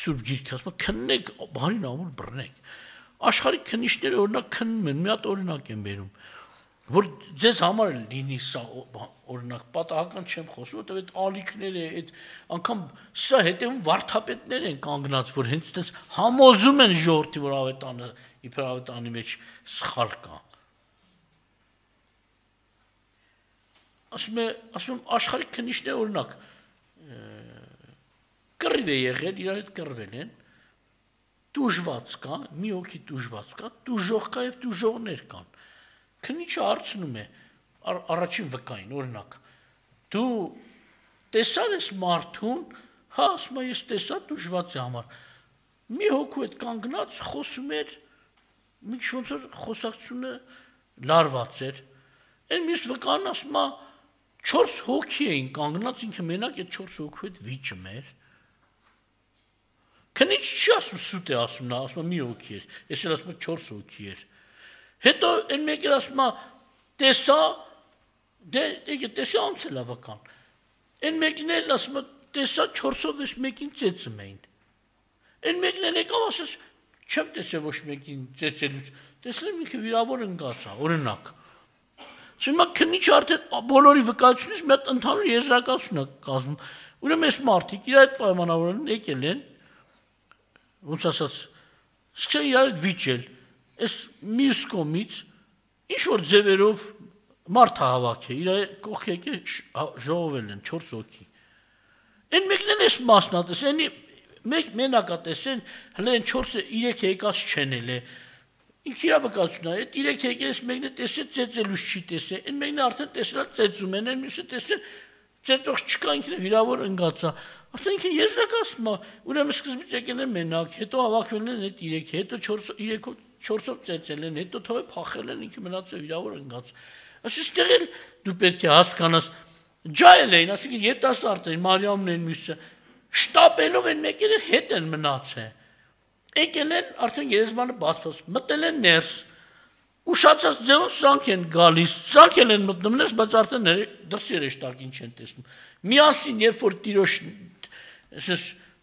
Speaker 1: Սուրբ Գիրքը ասում քննեք բանին ամուր բռնեք աշխարհիկ քննիչները օրինակ քննում են մի հատ օրինակ են բերում որ ձեզ համար լինի սա օրինակ պատահական չեմ խոսում որտեղ այդ ալիքները այդ անգամ սա հետևում վարդապետներ են կանգնած որ հենց այդպես համոզում են ժողովրդի որ ավետանը իբր ավետանի մեջ սխալ կա Ասում է, ասում եմ, աշխարհիկ քննիչները օրինակ կռիվ է եղել, իրար հետ կռվել են, տուժված կա, մի հոգի տուժված կա, տուժող կա եւ տուժողներ կան։ Քննիչը հարցնում է առաջին վկային, օրինակ, դու տեսար ես մարդուն, հա, ասում է, ես տեսա տուժված է համար։ Մի հոգու հետ կանգնած խոսում էր, մի քիչ ոնց որ խոսակցությունը լարված էր։ Այն մյուս վկան ասում է Չորս հոգի էին կանգնած ինքը մենակ այդ չորս հոգու հետ վիճում էր։ Քնիչ չի ասում սուտ է ասում նա ասում մի հոգի էր, ես էլ ասում չորս հոգի էր։ Հետո այն մեկը ասում տեսա դե դե տեսա անցել ավական։ Այն մեկն էլ ասում տեսա չորսով էս մեկին ծեծում էին։ Այն մեկն էլ եկավ ասես չեմ տեսել ոչ մեկին ծեծելուց։ Տեսնեմ ինքը վիրավոր ընկած է, օրինակ։ Հիմա քննիչը արդեն բոլորի վկայությունից մի հատ ընդհանուր եզրակացություն է կազմում։ Ուրեմն այս մարդիկ իրար այդ պայմանավորեն եկել են, ոնց ասած, սկսել իրար հետ վիճել, այս մյուս կողմից ինչ որ ձևերով մարդ հավաք է, իրար կողք եկել ժողովել են չորս հոգի։ Այն մեկն էլ էս մասն է տեսել, մեկ մենակ է տեսել, հələ են չորսը երեք եկած չեն էլ է։ Ինքը իր վկայությունն է, այդ երեք եկելս մեկն է տեսել ծեծելուց չի տեսել, այն մեկն է արդեն տեսել ծեծում են, այն մյուսը տեսել ծեծող չկա ինքն է վիրավոր ընկած է։ Արդեն ինքը եզրակացնում է, ուրեմն սկզբից եկել են մենակ, հետո հավաքվել են այդ երեքը, հետո երեքով չորսով ծեծել են, հետո թողել փախել են, ինքը մնացել վիրավոր ընկած։ Այսինքն էլ դու պետք է հասկանաս, ջայել էին, այսինքն երիտասարդ էին, Մարիամն են մյուսը, շտապելով են մեկերը հետ են մնացել։ Եկել են արդեն երեզմանը բացված, մտել են ներս, ուշացած ձևով սրանք են գալիս, սրանք են մտնում ներս, բայց արդեն դրսի հրեշտակին չեն տեսնում։ Միասին, երբ որ տիրոջ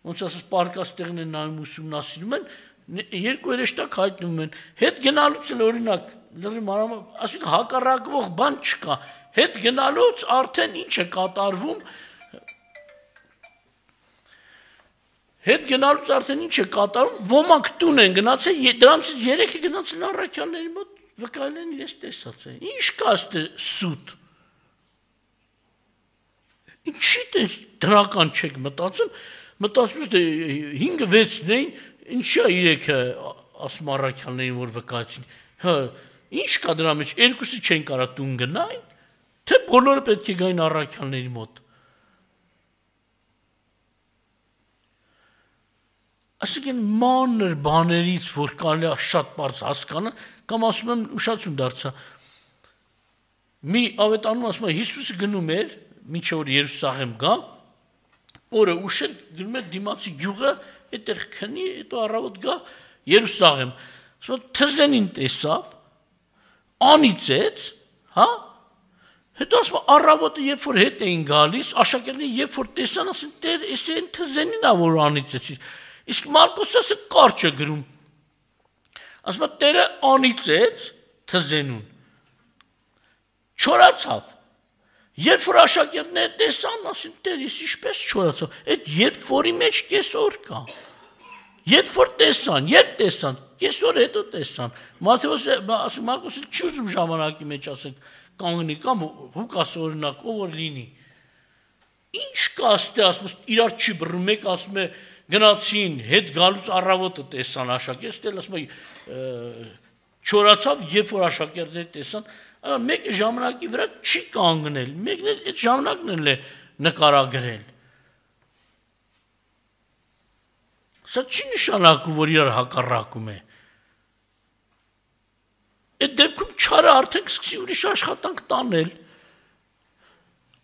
Speaker 1: ոնց ասես պարկած տեղն են նայում ուսումնասիրում են, երկու երեշտակ հայտնվում են, հետ գնալուց էլ օրինակ, լրի մանրամասն, ասենք հակառակվող բան չկա, հետ գնալուց արդեն ինչ է կատարվում, հետ գնալուց արդեն ինչ է կատարում, ոմանք տուն են գնացել, դրանցից երեքը գնացել առաքյալների մոտ, վկայել են իրենց տեսած է, ինչ կա ստե սուտ, ինչի տես դրական չեք մտածում, մտածում ես դե հինգը վեցն էին, ինչի է իրեքը ասում առաքյալներին, որ վկայեցին, հա, ինչ կա դրա մեջ, երկուսի չեն կարա տուն գնային, թե բոլորը պետք է գային առաքյալների մոտ։ Ասենք են մանր բաներից, որ կարելի է շատ բարձ հասկանալ, կամ ասում եմ ուշացում դարձա, մի ավետարանում ասում է Հիսուսը գնում էր, մինչև որ Երուսաղեմ գա, օրը ուշեր գնում էր դիմացի գյուղը, այդտեղ քնի, հետո առավոտ գա Երուսաղեմ, թզենին տեսավ, անիծեց, հա, հետո ասում է առավոտը երբ որ հետ էին գալիս, աշակերտները երբ որ տեսան, ասեն տեր, էս են թզենին ա որ անիծեցիր, իսկ Մարկոսը ասը կարճ է գրում, ասում է տերը անիծեց թզենուն, չորացավ, երբ որ աշակերտները տեսան, ասին տեր, ես ինչպես չորացավ, այդ երբ որի մեջ կեսօր կա, երբ որ տեսան, երբ տեսան, կեսօր հետո տեսան, Մարկոսը չի ուզում ժամանակի մեջ ասենք կանգնի կամ Ղուկաս օրինակ, ով որ լինի, ինչ կա ստե ասում, իրար չի բռնում, մեկ ասում է գնացին, հետ գալուց առավոտը տեսան աշակերտները, ասում է չորացավ, երբ որ աշակերտները տեսան, մեկը ժամանակի վրա չի կանգնել, մեկն էլ այդ ժամանակն էլ է նկարագրել։ Սա չի նշանակում, որ իրար հակառակում է։ Այդ դեպքում չարը արդեն սկսի ուրիշ աշխատանք տանել։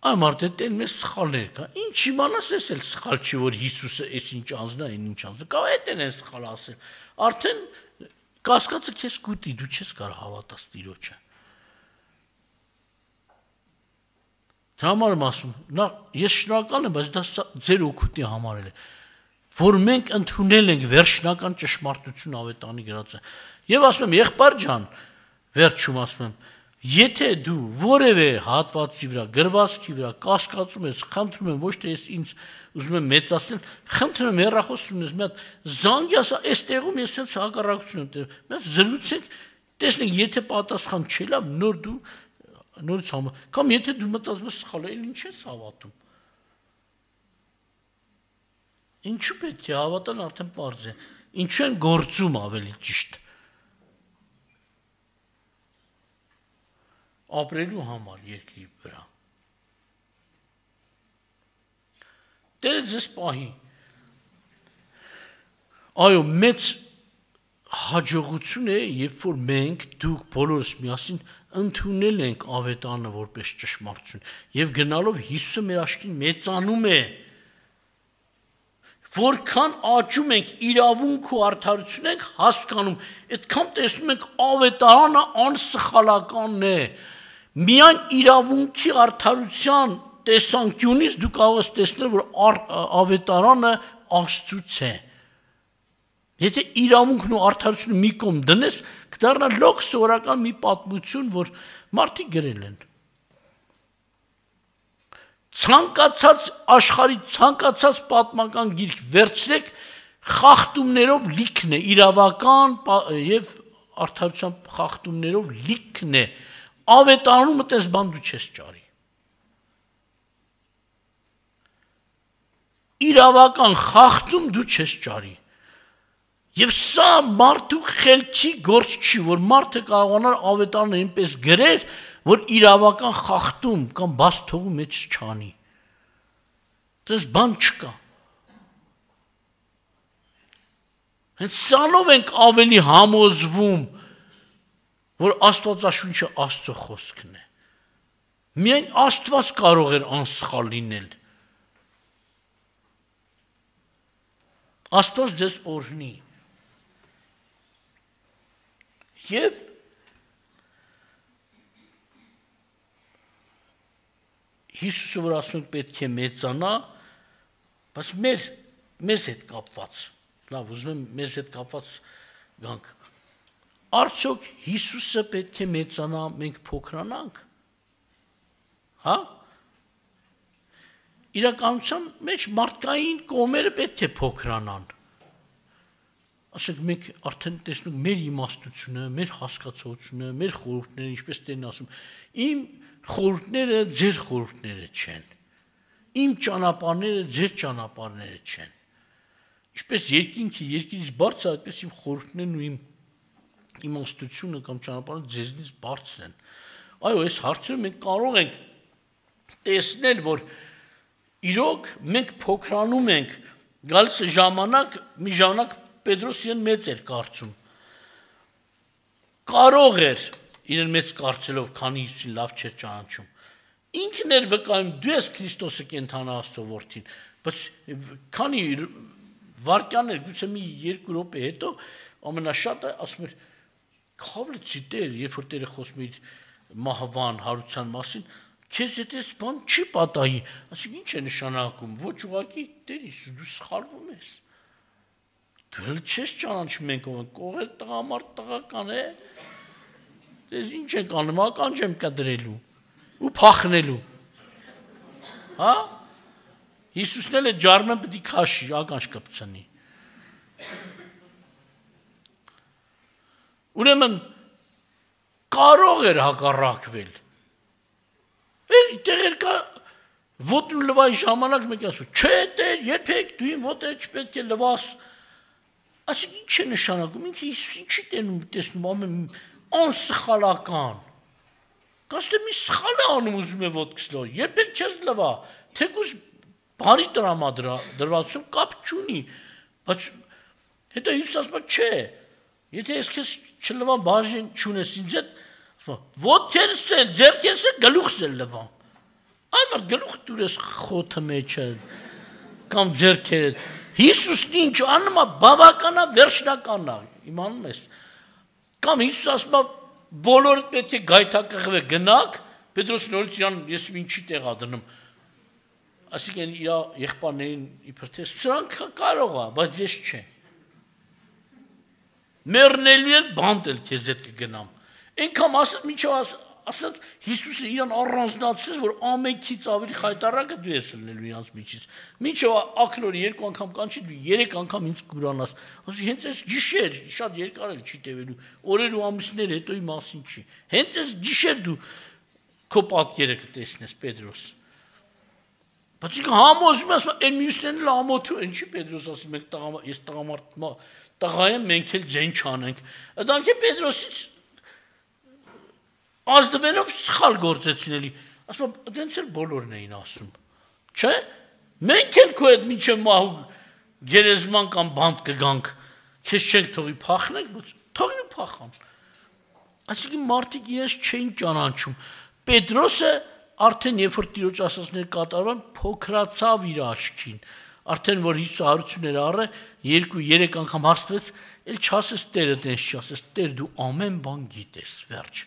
Speaker 1: Այ մարդը տեն մեզ սխալներ կա, ինչ իմանաս ես էլ սխալ չի, որ Հիսուսը ես ինչ անձնա, են ինչ անձնա, կա էտ են են սխալ ասել, արդեն կասկածը կեզ կուտի, դու չես կար հավատաս տիրոչը։ Դա համար եմ ասում, նա, ես շնորհակալ եմ, բայց դա ձեր օգուտի համարել է, որ մենք ընդունել ենք վերջնական ճշմարտություն ավետարանի գրած է։ Եվ ասում եմ, եղբայր ջան, վերջում ասում եմ, եթե դու որևէ հատվածի վրա, գրվածքի վրա կասկածում ես, խնդրում եմ, ոչ թե ես ինձ ուզում եմ մեծացնել, խնդրում եմ հեռախոսում ես, մի հատ զանգի ասա, այս տեղում ես հենց հակառակություն եմ տեղ, մի հատ զրուցենք, տեսնենք, եթե պատասխան չի լավ, նոր դու նորից համա, կամ եթե դու մտածում ես սխալ է, ինչ ես հավատում։ Ինչու պետք է հավատան արդեն պարզ է, ինչու են գործում ավելի ճիշտ։ Ապրելու համար երկրի վրա։ Տերը ձեզ պահի։ Այո, մեծ հաջողություն է, երբ որ մենք դուք բոլորս միասին ընդունել ենք ավետարանը որպես ճշմարտություն եւ գնալով Հիսուսը մեր աչքին մեծանում է։ Որքան աճում ենք իրավունք ու արդարություն ենք հասկանում, այդքան տեսնում ենք ավետարանը անսխալականն է։ Միայն իրավունքի արդարության տեսանկյունից դու կարող ես տեսնել, որ ավետարանը Աստծուց է։ Եթե իրավունքն ու արդարությունը մի կողմ դնես, կդառնա լոկ սովորական մի պատմություն, որ մարդիկ գրել են։ Ցանկացած աշխարհի ցանկացած պատմական գիրք վերցրեք, խախտումներով լիքն է, իրավական եւ արդարության խախտումներով լիքն է։ Ավետարանում այդպես բան դու չես ճարի։ Իրավական խախտում դու չես ճարի։ Եվ սա մարդու խելքի գործ չի, որ մարդը կարողանար ավետարանը այնպես գրեր, որ իրավական խախտում կամ բաց թողու մեջ չանի։ Դες բան չկա։ Հենց սանով ենք ավելի համոզվում, որ Աստվածաշունչը Աստծո խոսքն է։ Միայն Աստված կարող էր անսխալ լինել։ Աստված ձեզ օրհնի։ Եվ Հիսուսը որ ասում պետք է մեծանա, բայց մեր մեզ հետ կապված, լավ, ուզում եմ մեզ հետ կապված գանք, արդյոք Հիսուսը պետք է մեծանա, մենք փոքրանանք, հա, իրականության մեջ մարդկային կողմերը պետք է փոքրանան, ասենք մենք արդեն տեսնում մեր իմաստությունը, մեր հասկացողությունը, մեր խորհուրդները, ինչպես Տերն ասում, իմ խորհուրդները ձեր խորհուրդները չեն, իմ ճանապարհները ձեր ճանապարհները չեն, ինչպես երկինքի երկիրից բարձր, այդպես իմ խորհուրդներն ու իմ իմաստությունը կամ ճանապարհը ձեզնից բարձր են, այո, այս հարցերը մենք կարող ենք տեսնել, որ իրոք մենք փոքրանում ենք, գալիս է ժամանակ, մի ժամանակ Պետրոս իրեն մեծ էր կարծում, կարող էր իրեն մեծ կարծելով, քանի Հիսուսին լավ չէր ճանաչում, ինքն էր վկայում, դու ես Քրիստոսը կենդանա Աստծո որդին, բայց քանի վայրկյաններ, գուցե մի երկու րոպե հետո ամենաշատը ասում էր, քավլեցի Տեր, երբ որ Տերը խոսում էր մահվան, հարության մասին, քեզ հետ այս բան չի պատահի, ասենք ինչ է նշանակում, ոչ ուղղակի Տեր Հիսուս, դու սխալվում ես, դու չես ճանաչում ենք ով, կողեր տղամարդ տղական է, դες ինչ ենք անում, ականջ եմ կդրելու ու փախնելու, հա, Հիսուսն էլ է ջարմեն պետք է քաշի, ականջ կպցնի, ուրեմն կարող էր հակառակվել, տեղեր կա ոտն լվայի ժամանակ մեկ ասում, չէ Տեր, երբեք դու իմ ոտերը չպետք է լվաս, ասենք ինչ է նշանակում, ինքը Հիսուս ինչի տենում տեսնում ամեն անսխալական, կաստ է մի սխալ է անում ուզում է ոտքս լոր, երբեք չես լվա, թեկուզ բարի տրամադրվածություն կապ չունի, բայց հետո Հիսուս ասում չէ, եթե ես քեզ չլվամ բաժին չունես ինձ հետ, ոտքերս էլ, ձեռքերս էլ, գլուխս էլ լվամ, այ մարդ գլուխ դուր ես խոթը մեջը, կամ ձեռքերդ, Հիսուսն ինչ անում է, բավականա վերջնական է, իմանում ես, կամ Հիսուս ասում է, բոլորդ պետք է գայթակղվե գնաք, Պետրոս նորից իրան ես ինչի տեղա դնում, այսինքն իր եղբայրներին իբր թե սրանք կարող է, բայց ես չէ, մեռնելու էլ բանտ էլ քեզ հետ կգնամ, այնքան ասած մինչև ասած Հիսուսը իրան առանձնացրեց, որ ամենքից ավելի խայտառակը դու ես լինելու իրանց միջից, մինչև ակնօրը երկու անգամ կանչի, դու երեք անգամ ինձ կուրանաս, ասի հենց այս գիշեր, շատ երկար էլ չի տևելու, օրեր ու ամիսներ հետոյի մասին չի, հենց այս գիշեր դու քո պատկերը կտեսնես Պետրոս, բայց ինքը համոզում է, ասում է, այն մյուսներն էլ ամոթու են, չի Պետրոս ասի, մենք ես տղամարդ տղա եմ, մենք էլ ձեն չանենք, դրանք է Պետրոսից ազդվելով սխալ գործեցին էլի, ասում է, դենց էլ բոլորն էին ասում, չէ, մենք էլ քո հետ մինչև մահու գերեզման կամ բանտ կգանք, քեզ չենք թողի փախնենք, բայց թողի փախան, այսինքն մարդիկ իրենց չէին ճանաչում, Պետրոսը արդեն երբ որ Տիրոջ ասածները կատարվան, փոքրացավ իր աչքին, արդեն որ Հիսուսը հարություններ առը, երկու երեք անգամ հարցրեց, էլ չասես Տերը տենց չասես, Տեր դու ամեն բան գիտես, վերջ,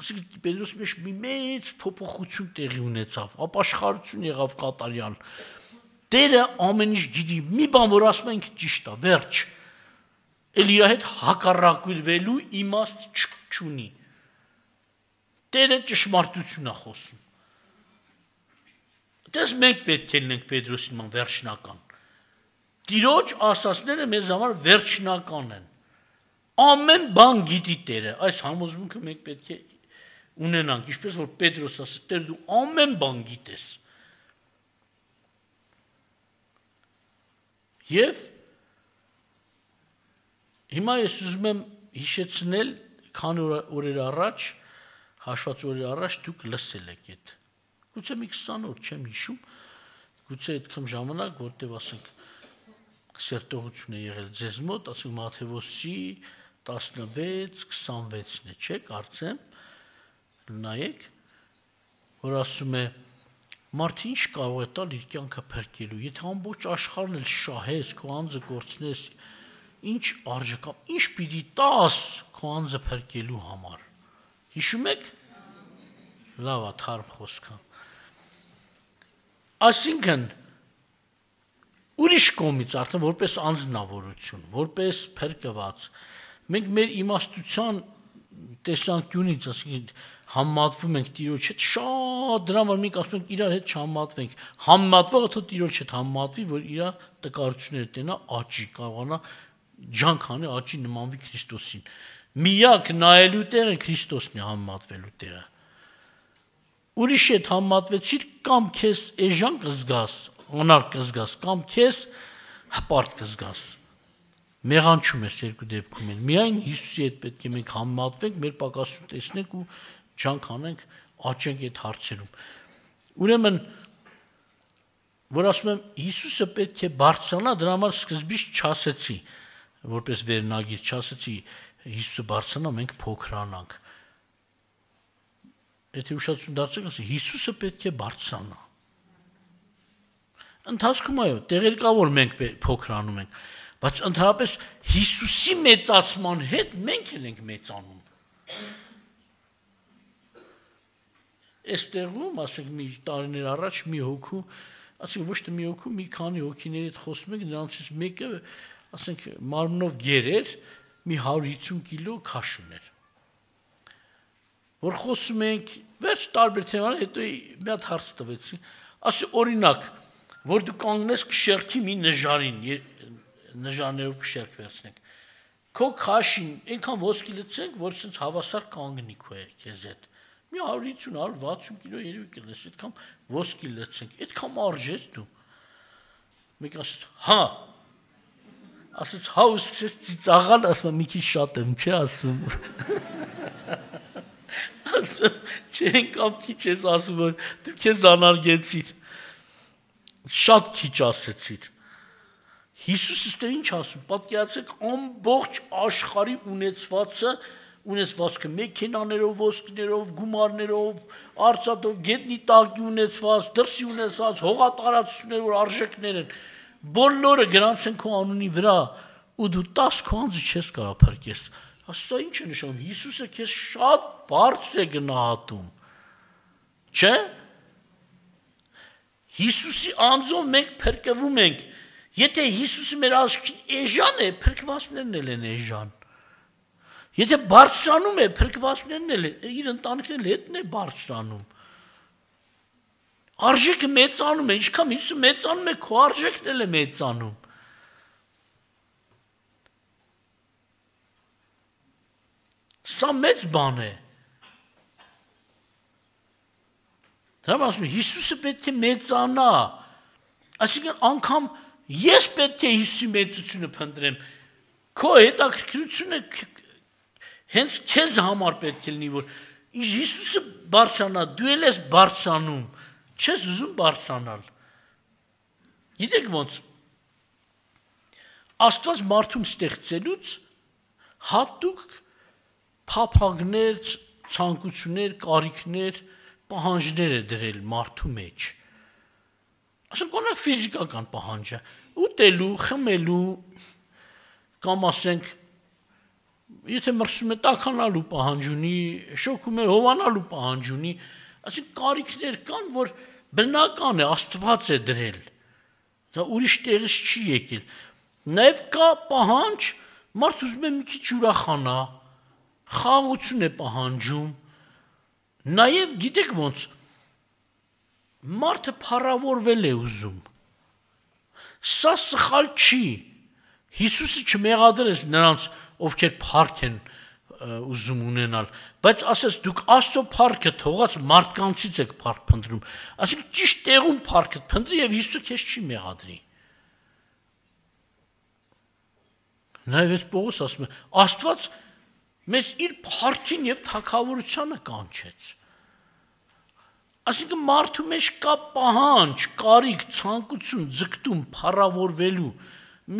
Speaker 1: այսինքն Պետրոսի մեջ մի մեծ փոփոխություն տեղի ունեցավ, ապաշխարություն եղավ կատարյալ, Տերը ամեն ինչ գիտի, մի բան որ ասում ենք ճիշտ է, վերջ, էլ իր հետ հակառակվելու իմաստ չունի, Տերը ճշմարտություն է խոսում, դες մենք պետք է լինենք Պետրոսի նման վերջնական, Տիրոջ ասածները մեզ համար վերջնական են, ամեն բան գիտի Տերը, այս համոզմունքը մենք պետք է ունենանք, ինչպես որ Պետրոս ասաց, Տեր դու ամեն բան գիտես, և հիմա ես ուզում եմ հիշեցնել, քանի օրեր առաջ, հաշված օրեր առաջ դուք լսել եք այդ, գուցե մի քսան օր չեմ հիշում, գուցե այդքան ժամանակ, որտև ասենք սերտողություն է եղել ձեզ մոտ, ասենք Մատթեոսի տասնվեց քսանվեցն է, չէ, կարծեմ, նայեք, որ ասում է, մարդը ինչ կարող է տալ իր կյանքը փրկելու, եթե ամբողջ աշխարհն էլ շահես, քո անձը կորցնես, ինչ արժե կամ ինչ պիտի տաս քո անձը փրկելու համար, հիշում եք, լավ է, թարմ խոսք է, այսինքն, ուրիշ կողմից արդեն որպես անձնավորություն, որպես փրկված, մենք մեր իմաստության տեսանկյունից, ասենք, համատվում ենք Տիրոջ հետ, շատ դրա համար մենք ասում ենք իրար հետ չհամատվենք, համատվողը թող Տիրոջ հետ համատվի, որ իր տկարությունները տենա աճի, կարողանա ջանք անի, աճի նմանվի Քրիստոսին։ Միակ նայելու տեղը Քրիստոսն է, համատվելու տեղը։ Ուրիշ հետ համատվեցիր, կամ քեզ էժան կզգաս, անար կզգաս, կամ քեզ հպարտ կզգաս։ Մեղանչում ես երկու դեպքում են։ Միայն Հիսուսի հետ պետք է մենք համատվենք, մեր պակասություն տեսնենք ու ջանք անենք, աճենք այդ հարցերում։ Ուրեմն, որ ասում եմ, Հիսուսը պետք է բարձրանա, դրա համար սկզբից չասեցի, որպես վերնագիր չասեցի, Հիսուսը բարձրանա, մենք փոքրանանք։ Եթե ուշադրություն դարձեք, ասի, Հիսուսը պետք է բարձրանա։ Ընթացքում այո, տեղեր կա, որ մենք փոքրանում ենք, բայց ընդհանրապես Հիսուսի մեծացման հետ մենք էլ ենք մեծանում։ Այստեղում, ասենք, մի տարիներ առաջ մի հոգու, ասենք, ոչ թե մի հոգու, մի քանի հոգիների հետ խոսում ենք, նրանցից մեկը, ասենք, մարմնով գեր էր, մի հարյուր հիսուն կիլո քաշ ուներ։ Որ խոսում ենք, վերջ տարբեր թեմաներ, հետո մի հատ հարց տվեցի, ասի օրինակ, որ դու կանգնես կշերքի մի նժարին, նժարներով կշերք վերցնենք, քո քաշին այնքան ոսկի լցենք, որ սենց հավասար կանգնի քո քեզ հետ։ Մի հարյուր հիսուն, հարյուր վաթսուն կիլո երևի կլես, այդքան ոսկի լցենք, այդքան արժես դու։ Մեկ ասեց, հա, ասեց, հա ու սկսեց ծիծաղալ, ասում մի քիչ շատ եմ, չէ ասում։ Ասում, չէ, կամ քիչ ես ասում, որ դու քեզ անարգեցիր։ Շատ քիչ ասեցիր։ Հիսուսը ստեր ինչ ասում, պատկերացեք ամբողջ աշխարհի ունեցվածը, ունեցվածքը մեքենաներով, ոսկիներով, գումարներով, արծաթով, գետնի տակի ունեցված, դրսի ունեցված, հողատարածություններ, որ արժեքներ են, բոլորը գրանց են քո անունի վրա, ու դու տաս քո անձը չես կարող փրկես։ Ասա ինչ է նշանակում, Հիսուսը քեզ շատ բարձր է գնահատում։ Չէ՞։ Հիսուսի անձով մենք փրկվում ենք։ Եթե Հիսուսը մեր աշխին էժան է, փրկվածներն էլ են էժան։ Եթե բարձրանում է, փրկվածներն էլ իր ընտանիքն էլ հետն է բարձրանում։ Արժեքը մեծանում է, ինչքան Հիսուսը մեծանում է, քո արժեքն էլ է մեծանում։ Սա մեծ բան է։ Դա ասում եմ, Հիսուսը պետք է մեծանա։ Այսինքն անգամ ես պետք է Հիսուսի մեծությունը փնտրեմ։ Քո հետաքրքրությունը հենց քեզ համար պետք է լինի, որ Հիսուսը բարձրանա, դու էլ ես բարձրանում, չես ուզում բարձրանալ։ Գիտեք ոնց։ Աստված մարդուն ստեղծելուց հատուկ փափագներ, ցանկություններ, կարիքներ, պահանջներ է դրել մարդու մեջ։ Ասենք օրինակ ֆիզիկական պահանջը, ուտելու, խմելու, կամ ասենք եթե մրսում է տաքանալու պահանջ ունի, շոքում է հովանալու պահանջ ունի, ասենք կարիքներ կան, որ բնական է, Աստված է դրել։ Դա ուրիշ տեղից չի եկել։ Նաև կա պահանջ, մարդ ուզում է մի քիչ ուրախանա, խաղաղություն է պահանջում։ Նաև գիտեք ոնց, մարդը փառավորվել է ուզում։ Սա սխալ չի։ Հիսուսը չմեղադրեց նրանց, ովքեր փառք են ուզում ունենալ, բայց ասես դուք Աստծո փառքը թողած մարդկանցից եք փառք փնտրում։ Այսինքն ճիշտ տեղում փառքը փնտրի եւ Հիսուսը քեզ չի մեղադրի։ Նաև այս Պողոս ասում է, Աստված մեզ իր փառքին եւ թագավորությանը կանչեց։ Այսինքն մարդու մեջ կա պահանջ, կարիք, ցանկություն, ձգտում փառավորվելու։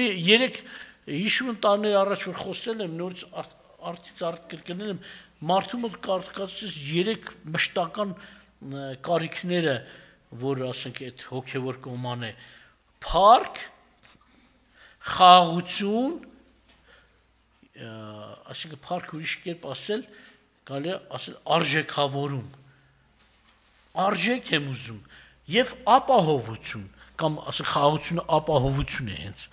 Speaker 1: Մի երեք հիշում եմ տարիներ առաջ որ խոսել եմ, նորից արդից արդ կրկնել եմ, մարդու մոտ կարգացած երեք մշտական կարիքները, որ ասենք այդ հոգևոր կոման է, փառք, խաղաղություն, այսինքն փառք ուրիշ կերպ ասել, կարելի է ասել արժեքավորում։ Արժեք եմ ուզում եւ ապահովություն կամ ասենք խաղաղությունը ապահովություն է հենց։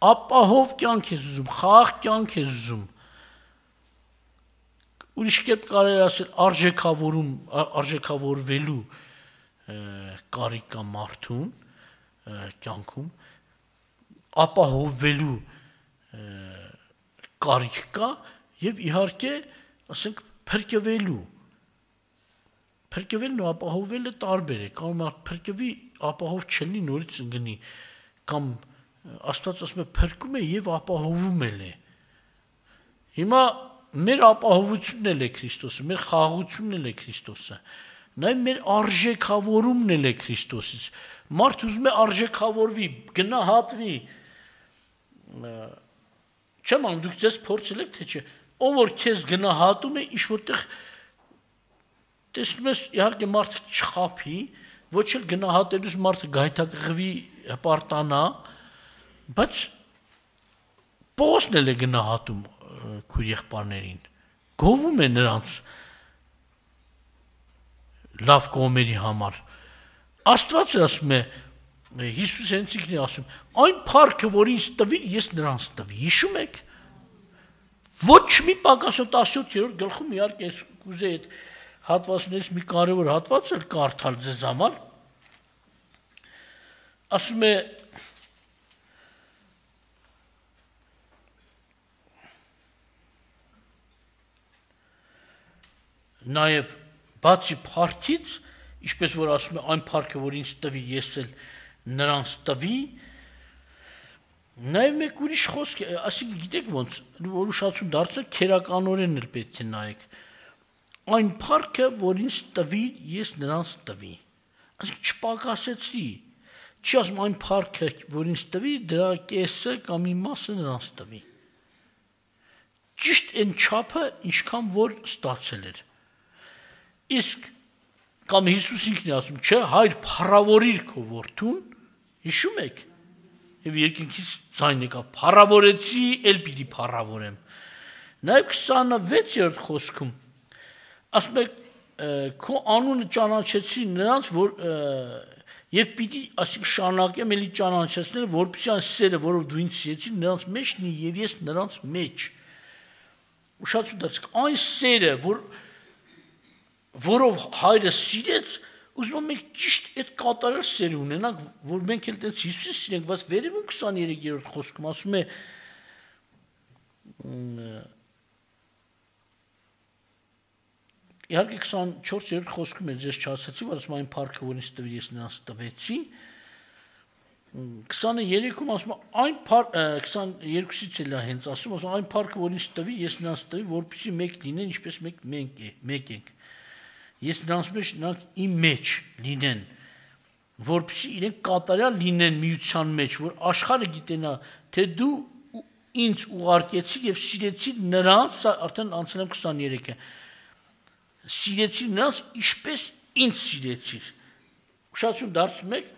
Speaker 1: Ապահով կյանք ես ուզում, խաղաղ կյանք ես ուզում։ Ուրիշ կերպ կարելի ասել արժեքավորում, արժեքավորվելու կարիք կա մարդուն կյանքում, ապահովվելու կարիք կա եւ իհարկե, ասենք, փրկվելու Փրկվելն ու ապահովվելը տարբեր է, կարող է փրկվի, ապահով չլինի, նորից ընկնի, կամ Աստված ասում է փրկում է եւ ապահովում է։ Հիմա մեր ապահովությունն էլ է Քրիստոսը, մեր խաղաղությունն էլ է Քրիստոսը, նաեւ մեր արժեքավորումն էլ է Քրիստոսից։ Մարդ ուզում է արժեքավորվի, գնահատվի։ Չեմ անում, դուք ձեզ փորձել եք, թե չէ, ով որ քեզ գնահատում է, ինչ որտեղ տեսնում ես, իհարկե մարդը չխափի, ոչ էլ գնահատելուց մարդը գայթակղվի, հպարտանա, բայց Պողոսն էլ է գնահատում քույր եղբայրներին, գովում է նրանց լավ կողմերի համար։ Աստված ասում է, Հիսուս հենց ինքն է ասում, այն փառքը, որ ինձ տվի, ես նրանց տվի։ Հիշում եք։ Ոչ մի Պակասոց տասնյոթերորդ գլխում իհարկե ես կուզեի այդ հատվածներից մի կարևոր հատված էլ կարդալ ձեզ համար, ասում է նաև բացի փառքից, ինչպես որ ասում է այն փառքը, որ ինձ տվի, ես էլ նրանց տվի, նաև մեկ ուրիշ խոսք, այսինքն գիտեք ոնց, որ ուշացում դարձնել քերականորեն էլ պետք է նայեք։ Այն փառքը, որ ինձ տվի, ես նրանց տվի։ Այսինքն չպակասեցրի։ Չի ասում այն փառքը, որ ինձ տվի, դրա կեսը կամ մի մասը նրանց տվի։ Ճիշտ այն չափը, ինչքան որ ստացել էր։ Իսկ կամ Հիսուս ինքն է ասում, չէ, հայր փառավորիր քո որդուն, հիշում եք։ Եվ երկինքից ձայն եկավ, փառավորեցի, էլ պիտի փառավորեմ։ Նաև քսանվեցերորդ խոսքում ասում եք, քո անունը ճանաչեցի նրանց, որ եւ պիտի ասիկ շարունակեմ էլի ճանաչեցնել, որպեսզի այն սերը, որով դու ինձ սիրեցի, նրանց մեջ լինի եւ ես նրանց մեջ։ Ուշացու դարձեք, այն սերը, որ որով հայրը սիրեց, ուզում եմ մենք ճիշտ այդ կատարյալ սեր ունենանք, որ մենք էլ այդպես Հիսուս սիրենք, բայց վերևում քսաներեքերորդ խոսքում ասում է Իհարկե քսանչորսերորդ խոսքում է ձեզ չասացի, որ ասում այն փառքը, որ ինձ տվի, ես նրանց տվեցի։ քսաներեքում ասում այն քսաներկուսից էլ է հենց ասում, ասում այն փառքը, որ ինձ տվի, ես նրանց տվի, որպեսզի մեկ լինեն, ինչպես մեկ մենք մեկ ենք։ Ես նրանց մեջ նրանք իմ մեջ լինեն, որպեսզի իրենք կատարյալ լինեն միության մեջ, որ աշխարհը գիտենա, թե դու ինձ ուղարկեցիր եւ սիրեցիր նրանց, արդեն անցել եմ քսաներեքը Սիրեցիր նրանց, ինչպես ինձ սիրեցիր։ Ուշացում դարձում եք,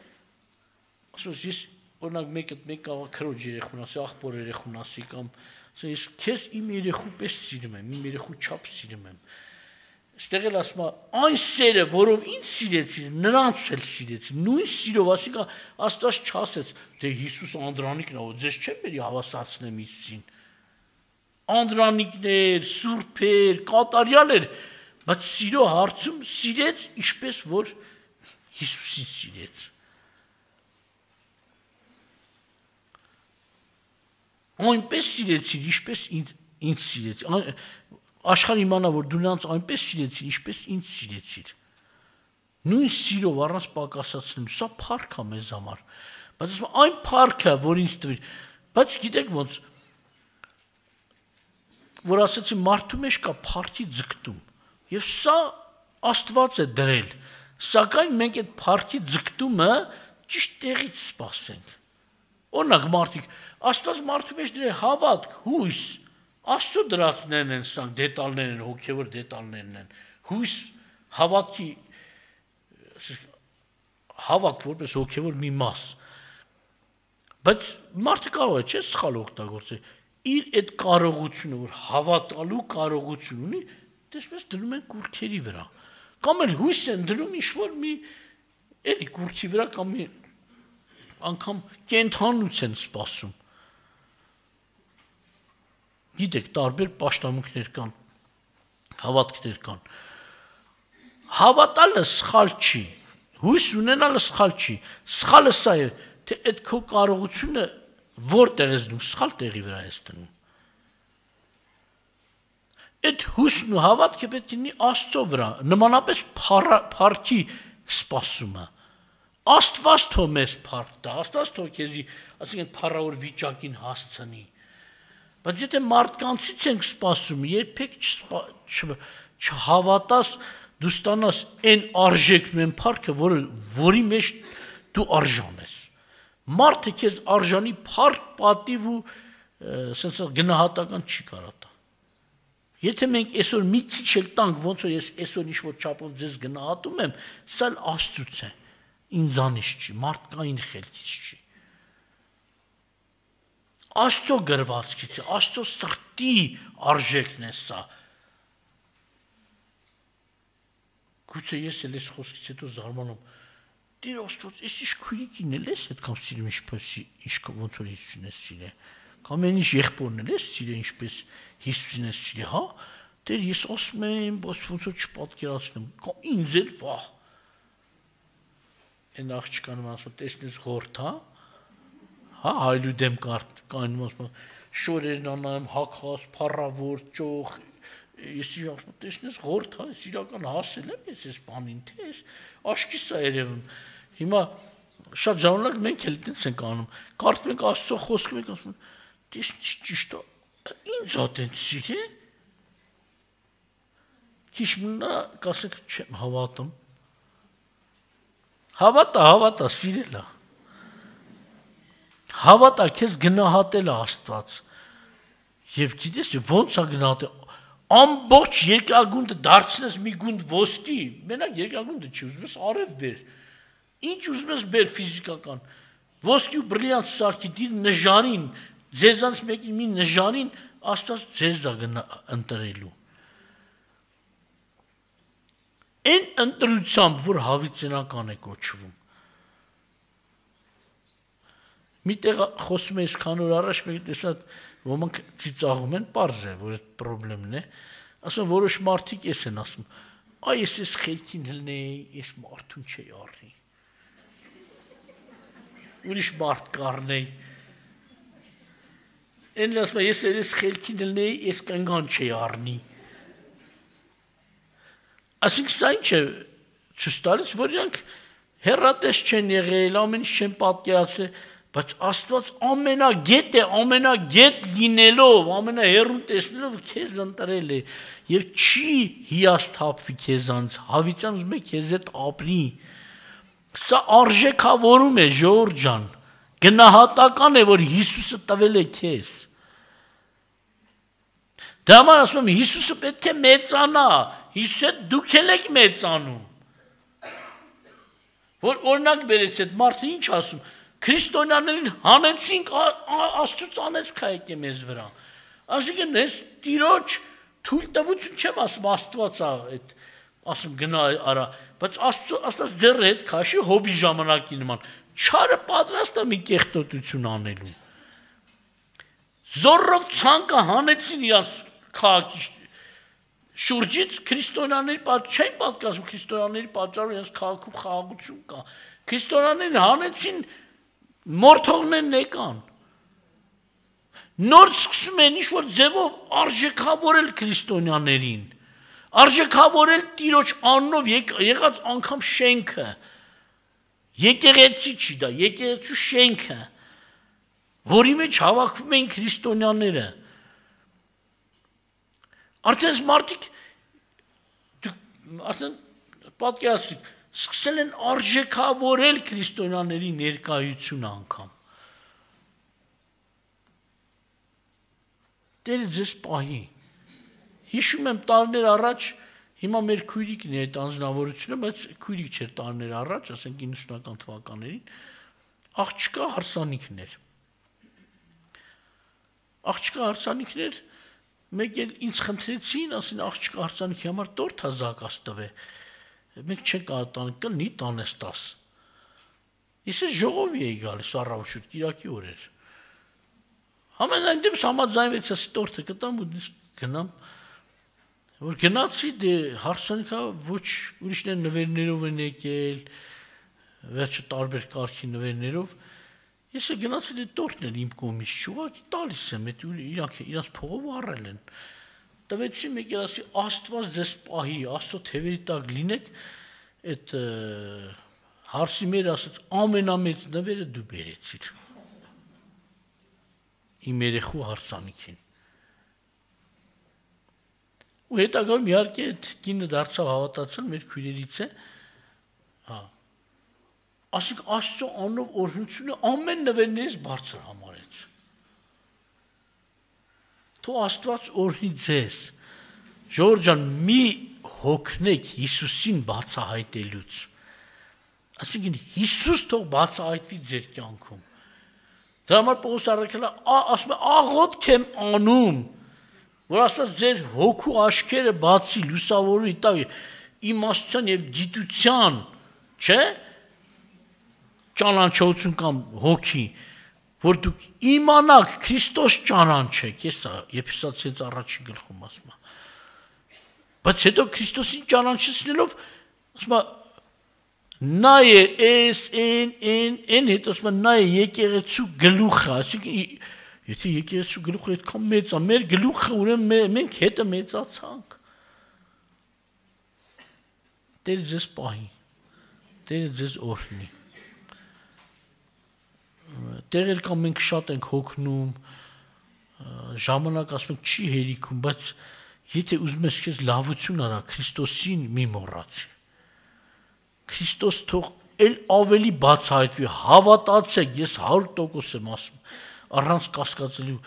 Speaker 1: ասում ես, ես օրինակ մեկ այդ մեկ կարող քրոջ երեխուն ասի, աղբոր երեխուն ասի, կամ ասում ես, քեզ իմ երեխու պես սիրում եմ, իմ երեխու չափ սիրում եմ։ Այստեղ էլ ասում է, այն սերը, որով ինձ սիրեցիր, նրանց էլ սիրեցիր, նույն սիրով, ասիկա Աստված չասեց, դե Հիսուս Անդրանիկն է, ձեզ չեմ բերի հավասարցնեմ Հիսուսին։ Անդրանիկներ, սուրբեր, կատարյալ էր, բայց սիրո հարցում սիրեց, ինչպես որ Հիսուսին սիրեց։ Այնպես սիրեցիր, ինչպես ինձ սիրեցիր։ Աշխարհը իմանա, որ դու նրանց այնպես սիրեցիր, ինչպես ինձ սիրեցիր։ Նույն սիրով առանց պակասացնելու, սա փառք է մեզ համար։ Բայց ասում այն փառքը, որ ինձ տվիր, բայց գիտեք ոնց, որ ասեցի մարդու մեջ կա փառքի ձգտում։ Եվ սա Աստված է դրել, սակայն մենք այդ փառքի ձգտումը ճիշտ տեղից սպասենք։ Օրինակ մարդիկ, Աստված մարդու մեջ դրել հավատք, հույս, Աստծո դրածներն են, սրանք դետալներ են, հոգևոր դետալներն են։ Հույս, հավատքի հավատք որպես հոգևոր մի մաս։ Բայց մարդը կարող է, չէ՞, սխալ օգտագործել։ Իր այդ կարողությունը, որ հավատալու կարողություն ունի, դեսպես դնում են կուրքերի վրա։ Կամ էլ հույս են դնում ինչ-որ մի էլի կուրքի վրա կամ մի անգամ կենթանուց են սպասում։ Գիտեք, տարբեր պաշտամունքներ կան, հավատքներ կան։ Հավատալը սխալ չի, հույս ունենալը սխալ չի, սխալը սա է, թե այդ քո կարողությունը որտեղ ես դնում, սխալ տեղի վրա ես դնում։ Այդ հույսն ու հավատքը պետք է լինի Աստծո վրա, նմանապես փառքի սպասումը։ Աստված թող մեզ փառք տա, Աստված թող քեզի, ասենք փառավոր վիճակին հասցնի։ Բայց եթե մարդկանցից ենք սպասում, երբեք չհավատաս, դու ստանաս այն արժեքն ու այն փառքը, որը որի մեջ դու արժան ես։ Մարդը քեզ արժանի փառք, պատիվ ու ասենց գնահատական չի կարա տա։ Եթե մենք այսօր մի քիչ էլ տանք, ոնց որ ես այսօր ինչ-որ չափով ձեզ գնահատում եմ, սա Աստծուց է, ինձանից չի, մարդկային խելքից չի։ Աստծո գրվածքից է, Աստծո սրտի արժեքն է սա։ Գուցե ես էլ այս խոսքից հետո զարմանում, Տեր Աստված, ես ինչ քույրիկին էլ ես այդքան սիրում, ինչպես ինչքան ոնց որ Հիսուսին ես սիրել։ Կամ այն ինչ եղբորն էլ ես սիրել, ինչպես Հիսուսին ես սիրել, հա։ Տեր ես ասում եմ, բայց ոնց որ չպատկերացնեմ, կամ ինձ էլ վահ։ Այն աղջկան ասում, տեսնես ղորթ, հա։ Հա, հայլու դեմ կայնում ասում, շորերն անայում, հակած, փառավոր, ճոխ, ես ասում, տեսնես ղորթ, հա, ես իրական հասել եմ ես այս բանին, թե ես աշկիս է երևում։ Հիմա շատ ժամանակ մենք էլ դից ենք անում, կարդում ենք Աստծո խոսքը, մենք ասում ենք, տեսնես ճիշտ է, ինձ ատեն սիրե։ Քիչ մնա, կասեք, չեմ հավատում։ Հավատա, հավատա, սիրել է։ Հավատա, քեզ գնահատել է Աստված։ Եվ գիտես, ոնց է գնահատել, ամբողջ երկրագունդը դարձնես մի գունդ ոսկի, մենակ երկրագունդը չի, ուզում ես արև բեր, ինչ ուզում ես բեր ֆիզիկական, ոսկի ու բրիլիանտ սարքի դիր նժարին, ձեզանց մեկին մի նժարին, Աստված ձեզ է ընտրելու։ Այն ընտրությամբ, որ հավիտենական է կոչվում։ Մի տեղ խոսում ես քան օր առաջ, մեկ տեսա ոմանք ծիծաղում են, պարզ է, որ այդ պրոբլեմն է, ասում որոշ մարդիկ ես են ասում, այ ես ես խելքին հլնեի, ես մարդուն չի առնի, ուրիշ մարդ կառնեի, են ասում ես ես խելքին հլնեի, ես կնգան չի առնի, ասինք սա ինչ է ցույց տալիս, որ իրանք հեռատես չեն եղել, ամեն ինչ չեն պատկերացրել, բայց Աստված ամենագետ է, ամենագետ լինելով, ամենահեռուն տեսնելով քեզ ընտրել է եւ չի հիասթափվի քեզանց, հավիտյան ուզում է քեզ հետ ապրի։ Սա արժեքավորում է, ժողովուրդ ջան, գնահատական է, որ Հիսուսը տվել է քեզ։ Դա համար ասում եմ, Հիսուսը պետք է մեծանա, Հիսուսը դուք էլ եք մեծանում։ Որ օրինակ բերեց այդ մարդը ինչ ասում, քրիստոնյաներին հանեցինք, Աստծուց անեցք հայք է մեզ վրա։ Այսինքն ես Տիրոջ թույլ տվություն չեմ ասում, Աստված է, ասում գնա արա, բայց Աստված ձեռը հետ քաշի հոբի ժամանակի նման, չարը պատրաստ է մի կեղտոտություն անելու։ Զորով ցանկը հանեցին իրանց քաղաքի շուրջից քրիստոնյաների պատճառ չեն պատկասում, քրիստոնյաների պատճառով իրենց քաղաքում խաղաղություն կա։ Քրիստոնյաներին հանեցին, մորթողներն եկան։ Նոր սկսում են ինչ-որ ձևով արժեքավորել քրիստոնյաներին, արժեքավորել Տիրոջ անունով եղած անգամ շենքը, եկեղեցի չի դա, եկեղեցու շենքը, որի մեջ հավաքվում են քրիստոնյաները։ Արդեն մարդիկ, արդեն պատկերացրիք, սկսել են արժեքավորել քրիստոնյաների ներկայությունը անգամ։ Տերը ձեզ պահի։ Հիշում եմ տարիներ առաջ, հիմա մեր քույրիկն է այդ անձնավորությունը, բայց քույրիկ չէր տարիներ առաջ, ասենք իննսունական թվականներին, աղջկա հարսանիքներ։ Աղջկա հարսանիքներ, մեկ էլ ինձ խնդրեցին, ասին աղջկա հարսանիքի համար տորթ հազակաց տվե։ Մենք չենք կարող տանք, կլնի տանես տաս։ Ես ժողովի էի գալիս առավոտ կիրակի օրեր։ Ամենայն դեպս համաձայնվեցի, ասի տորթը կտամ ու գնամ։ Որ գնացի դե հարսանիքա ոչ ուրիշներ նվերներով են եկել, վերջը տարբեր կարգի նվերներով։ Ես գնացի դե տորթն էլ իմ կողմից չուղակի տալիս եմ, այդ իրանք իրանց փողով առել են։ Տվեցի մեկ էլ ասի Աստված ձեզ պահի, Աստծո թևերի տակ լինեք, այդ հարսի մեր ասած ամենամեծ նվերը դու բերեցիր։ Իմ երեխու հարսանիքին։ Ու հետագայում իհարկե այդ կինը դարձավ հավատացել մեր քույրերից է, հա։ Ասիկ Աստծո անով օրհնությունը ամեն նվերներից բարձր համարեց։ Թող Աստված օրհնի ձեզ։ Ժողովուրդ ջան, մի հոգնեք Հիսուսին բացահայտելուց։ Այսինքն Հիսուս թող բացահայտվի ձեր կյանքում։ Դրա համար Պողոս առաքյալը ասում է աղոթք եմ անում, որ Աստված ձեր հոգու աչքերը բացի, լուսավորի տա իմաստության եւ գիտության, չէ՞, ճանաչողություն կամ հոգի, որ դուք իմանաք Քրիստոս ճանաչեք, ես Եփեսացիից առաջին գլխում ասում եմ։ Բայց հետո Քրիստոսին ճանաչեցնելով ասում եմ նա է էս են են են հետո ասում եմ նա է եկեղեցու գլուխը, այսինքն եթե եկեղեցու գլուխը այդքան մեծ է, մեր գլուխը ուրեմն մենք հետը մեծացանք։ Տերը ձեզ պահի, Տերը ձեզ օրհնի։ Տեղեր կամ մենք շատ ենք հոգնում, ժամանակ ասում ենք չի հերիքում, բայց եթե ուզում ես քեզ լավություն արա, Քրիստոսին մի մոռացի։ Քրիստոս թող էլ ավելի բացահայտվի, հավատացեք, ես հարյուր տոկոս եմ ասում, առանց կասկածելու,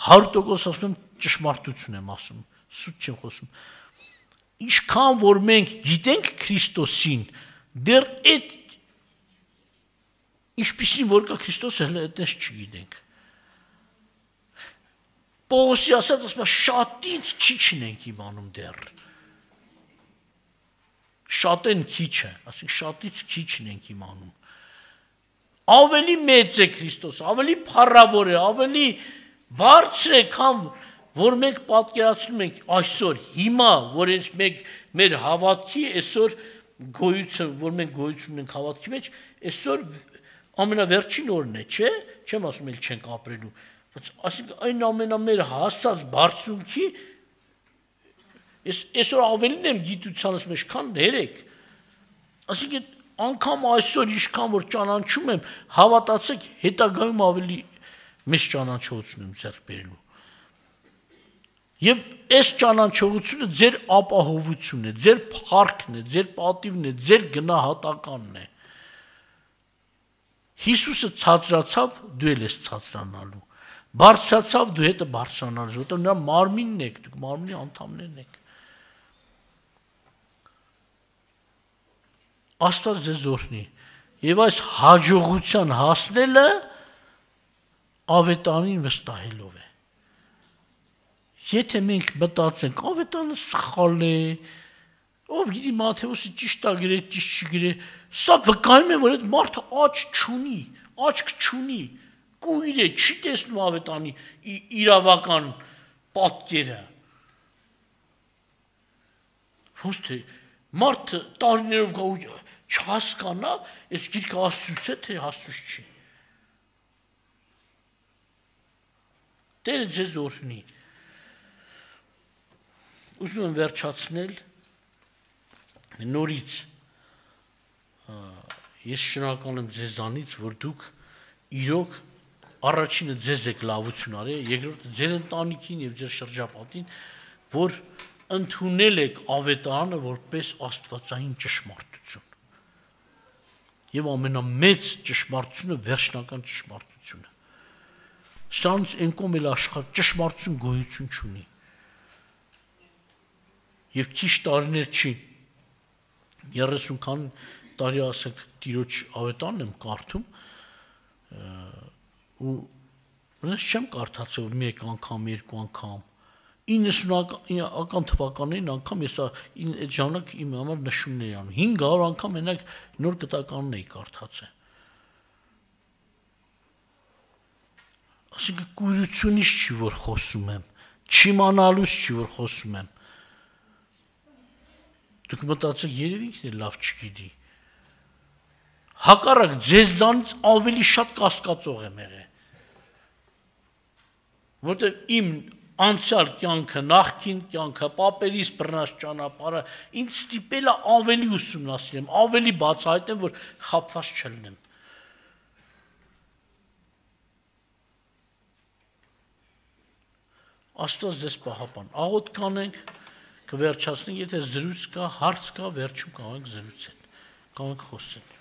Speaker 1: հարյուր տոկոս ասում եմ ճշմարտություն եմ ասում, սուտ չեմ խոսում։ Ինչքան որ մենք գիտենք Քրիստոսին, դեռ այդ ինչպիսին որ կա Քրիստոսը հենց այդպես չգիտենք։ Պողոսի ասած ասում է շատից քիչն ենք իմանում դեռ։ Շատեն քիչը, ասենք շատից քիչն ենք իմանում։ Ավելի մեծ է Քրիստոս, ավելի փառավոր է, ավելի բարձր է, քան որ մենք պատկերացնում ենք այսօր, հիմա, որ ես մենք մեր հավատքի այսօր գոյություն, որ մենք գոյություն ունենք հավատքի մեջ, այսօր ամենավերջին օրն է, չէ՞, չեմ ասում էլ չենք ապրելու, բայց ասենք այն ամենամեր հասած բարձունքի ես այսօր ավելին եմ գիտությանս մեջ, քան երեք։ Այսինքն անգամ այսօր ինչքան որ ճանաչում եմ, հավատացեք, հետագայում ավելի մեծ ճանաչողություն եմ ձեռք բերելու։ Եվ այս ճանաչողությունը ձեր ապահովությունն է, ձեր փառքն է, ձեր պատիվն է, ձեր գնահատականն է։ Հիսուսը ցածրացավ, դու էլ ես ցածրանալու։ Բարձրացավ, դու հետը բարձրանալու, որտեղ նրա մարմինն եք, դուք մարմինի անդամներն եք։ Աստված ձեզ օրհնի։ Եվ այս հաջողության հասնելը ավետարին վստահելով է։ Եթե մենք մտածենք, ավետարանը սխալ է, ով գիտի Մատթեոսը ճիշտ է գրել, ճիշտ չգրել, սա վկայում է, որ այդ մարդը աչք չունի, աչք չունի, կույր է, չի տեսնում ավետարանի իրավական պատկերը։ Ոնց թե մարդը տարիներով գա ու չհասկանա, այս գիրքը Աստծուց է, թե Աստծուց չի։ Տերը ձեզ օրհնի։ Ուզում եմ վերջացնել նորից ես շնորհակալ եմ ձեզանից, որ դուք իրոք առաջինը ձեզ եք լավություն արել, երկրորդը ձեր ընտանիքին եւ ձեր շրջապատին, որ ընդունել եք ավետարանը որպես աստվածային ճշմարտություն։ Եվ ամենամեծ ճշմարտությունը վերջնական ճշմարտությունը։ Սրանց ընկոմ էլ աշխարհ ճշմարտություն գոյություն չունի։ Եվ քիչ տարիներ չի երեսուն քան տարի ասեք տիրոջ ավետարն եմ կարդում ու ոնց չեմ կարդացել մեկ անգամ, երկու անգամ իննսունական թվականներին անգամ ես այդ ժամանակ իմ համար նշումներ անում հինգ հարյուր անգամ մենակ նոր կտականն էի կարդացել Այսինքն կույրությունից չի, որ խոսում եմ, չիմանալուց չի, որ խոսում եմ։ Դուք մտածեք, երևի ինքն է լավ չգիտի։ Հակառակ ձեզանից ավելի շատ կասկածող եմ եղել։ Որտեղ իմ անցյալ կյանքը, նախկին կյանքը, պապերիս բռնած ճանապարհը ինձ ստիպել է ավելի ուսումնասիրեմ, ավելի բացահայտեմ, որ խաբված չլինեմ։ Աստված ձեզ պահապան։ Աղոթ կանենք, կվերջացնենք, եթե զրույց կա, հարց կա, վերջում կարող ենք զրուցել, կարող ենք խոսել։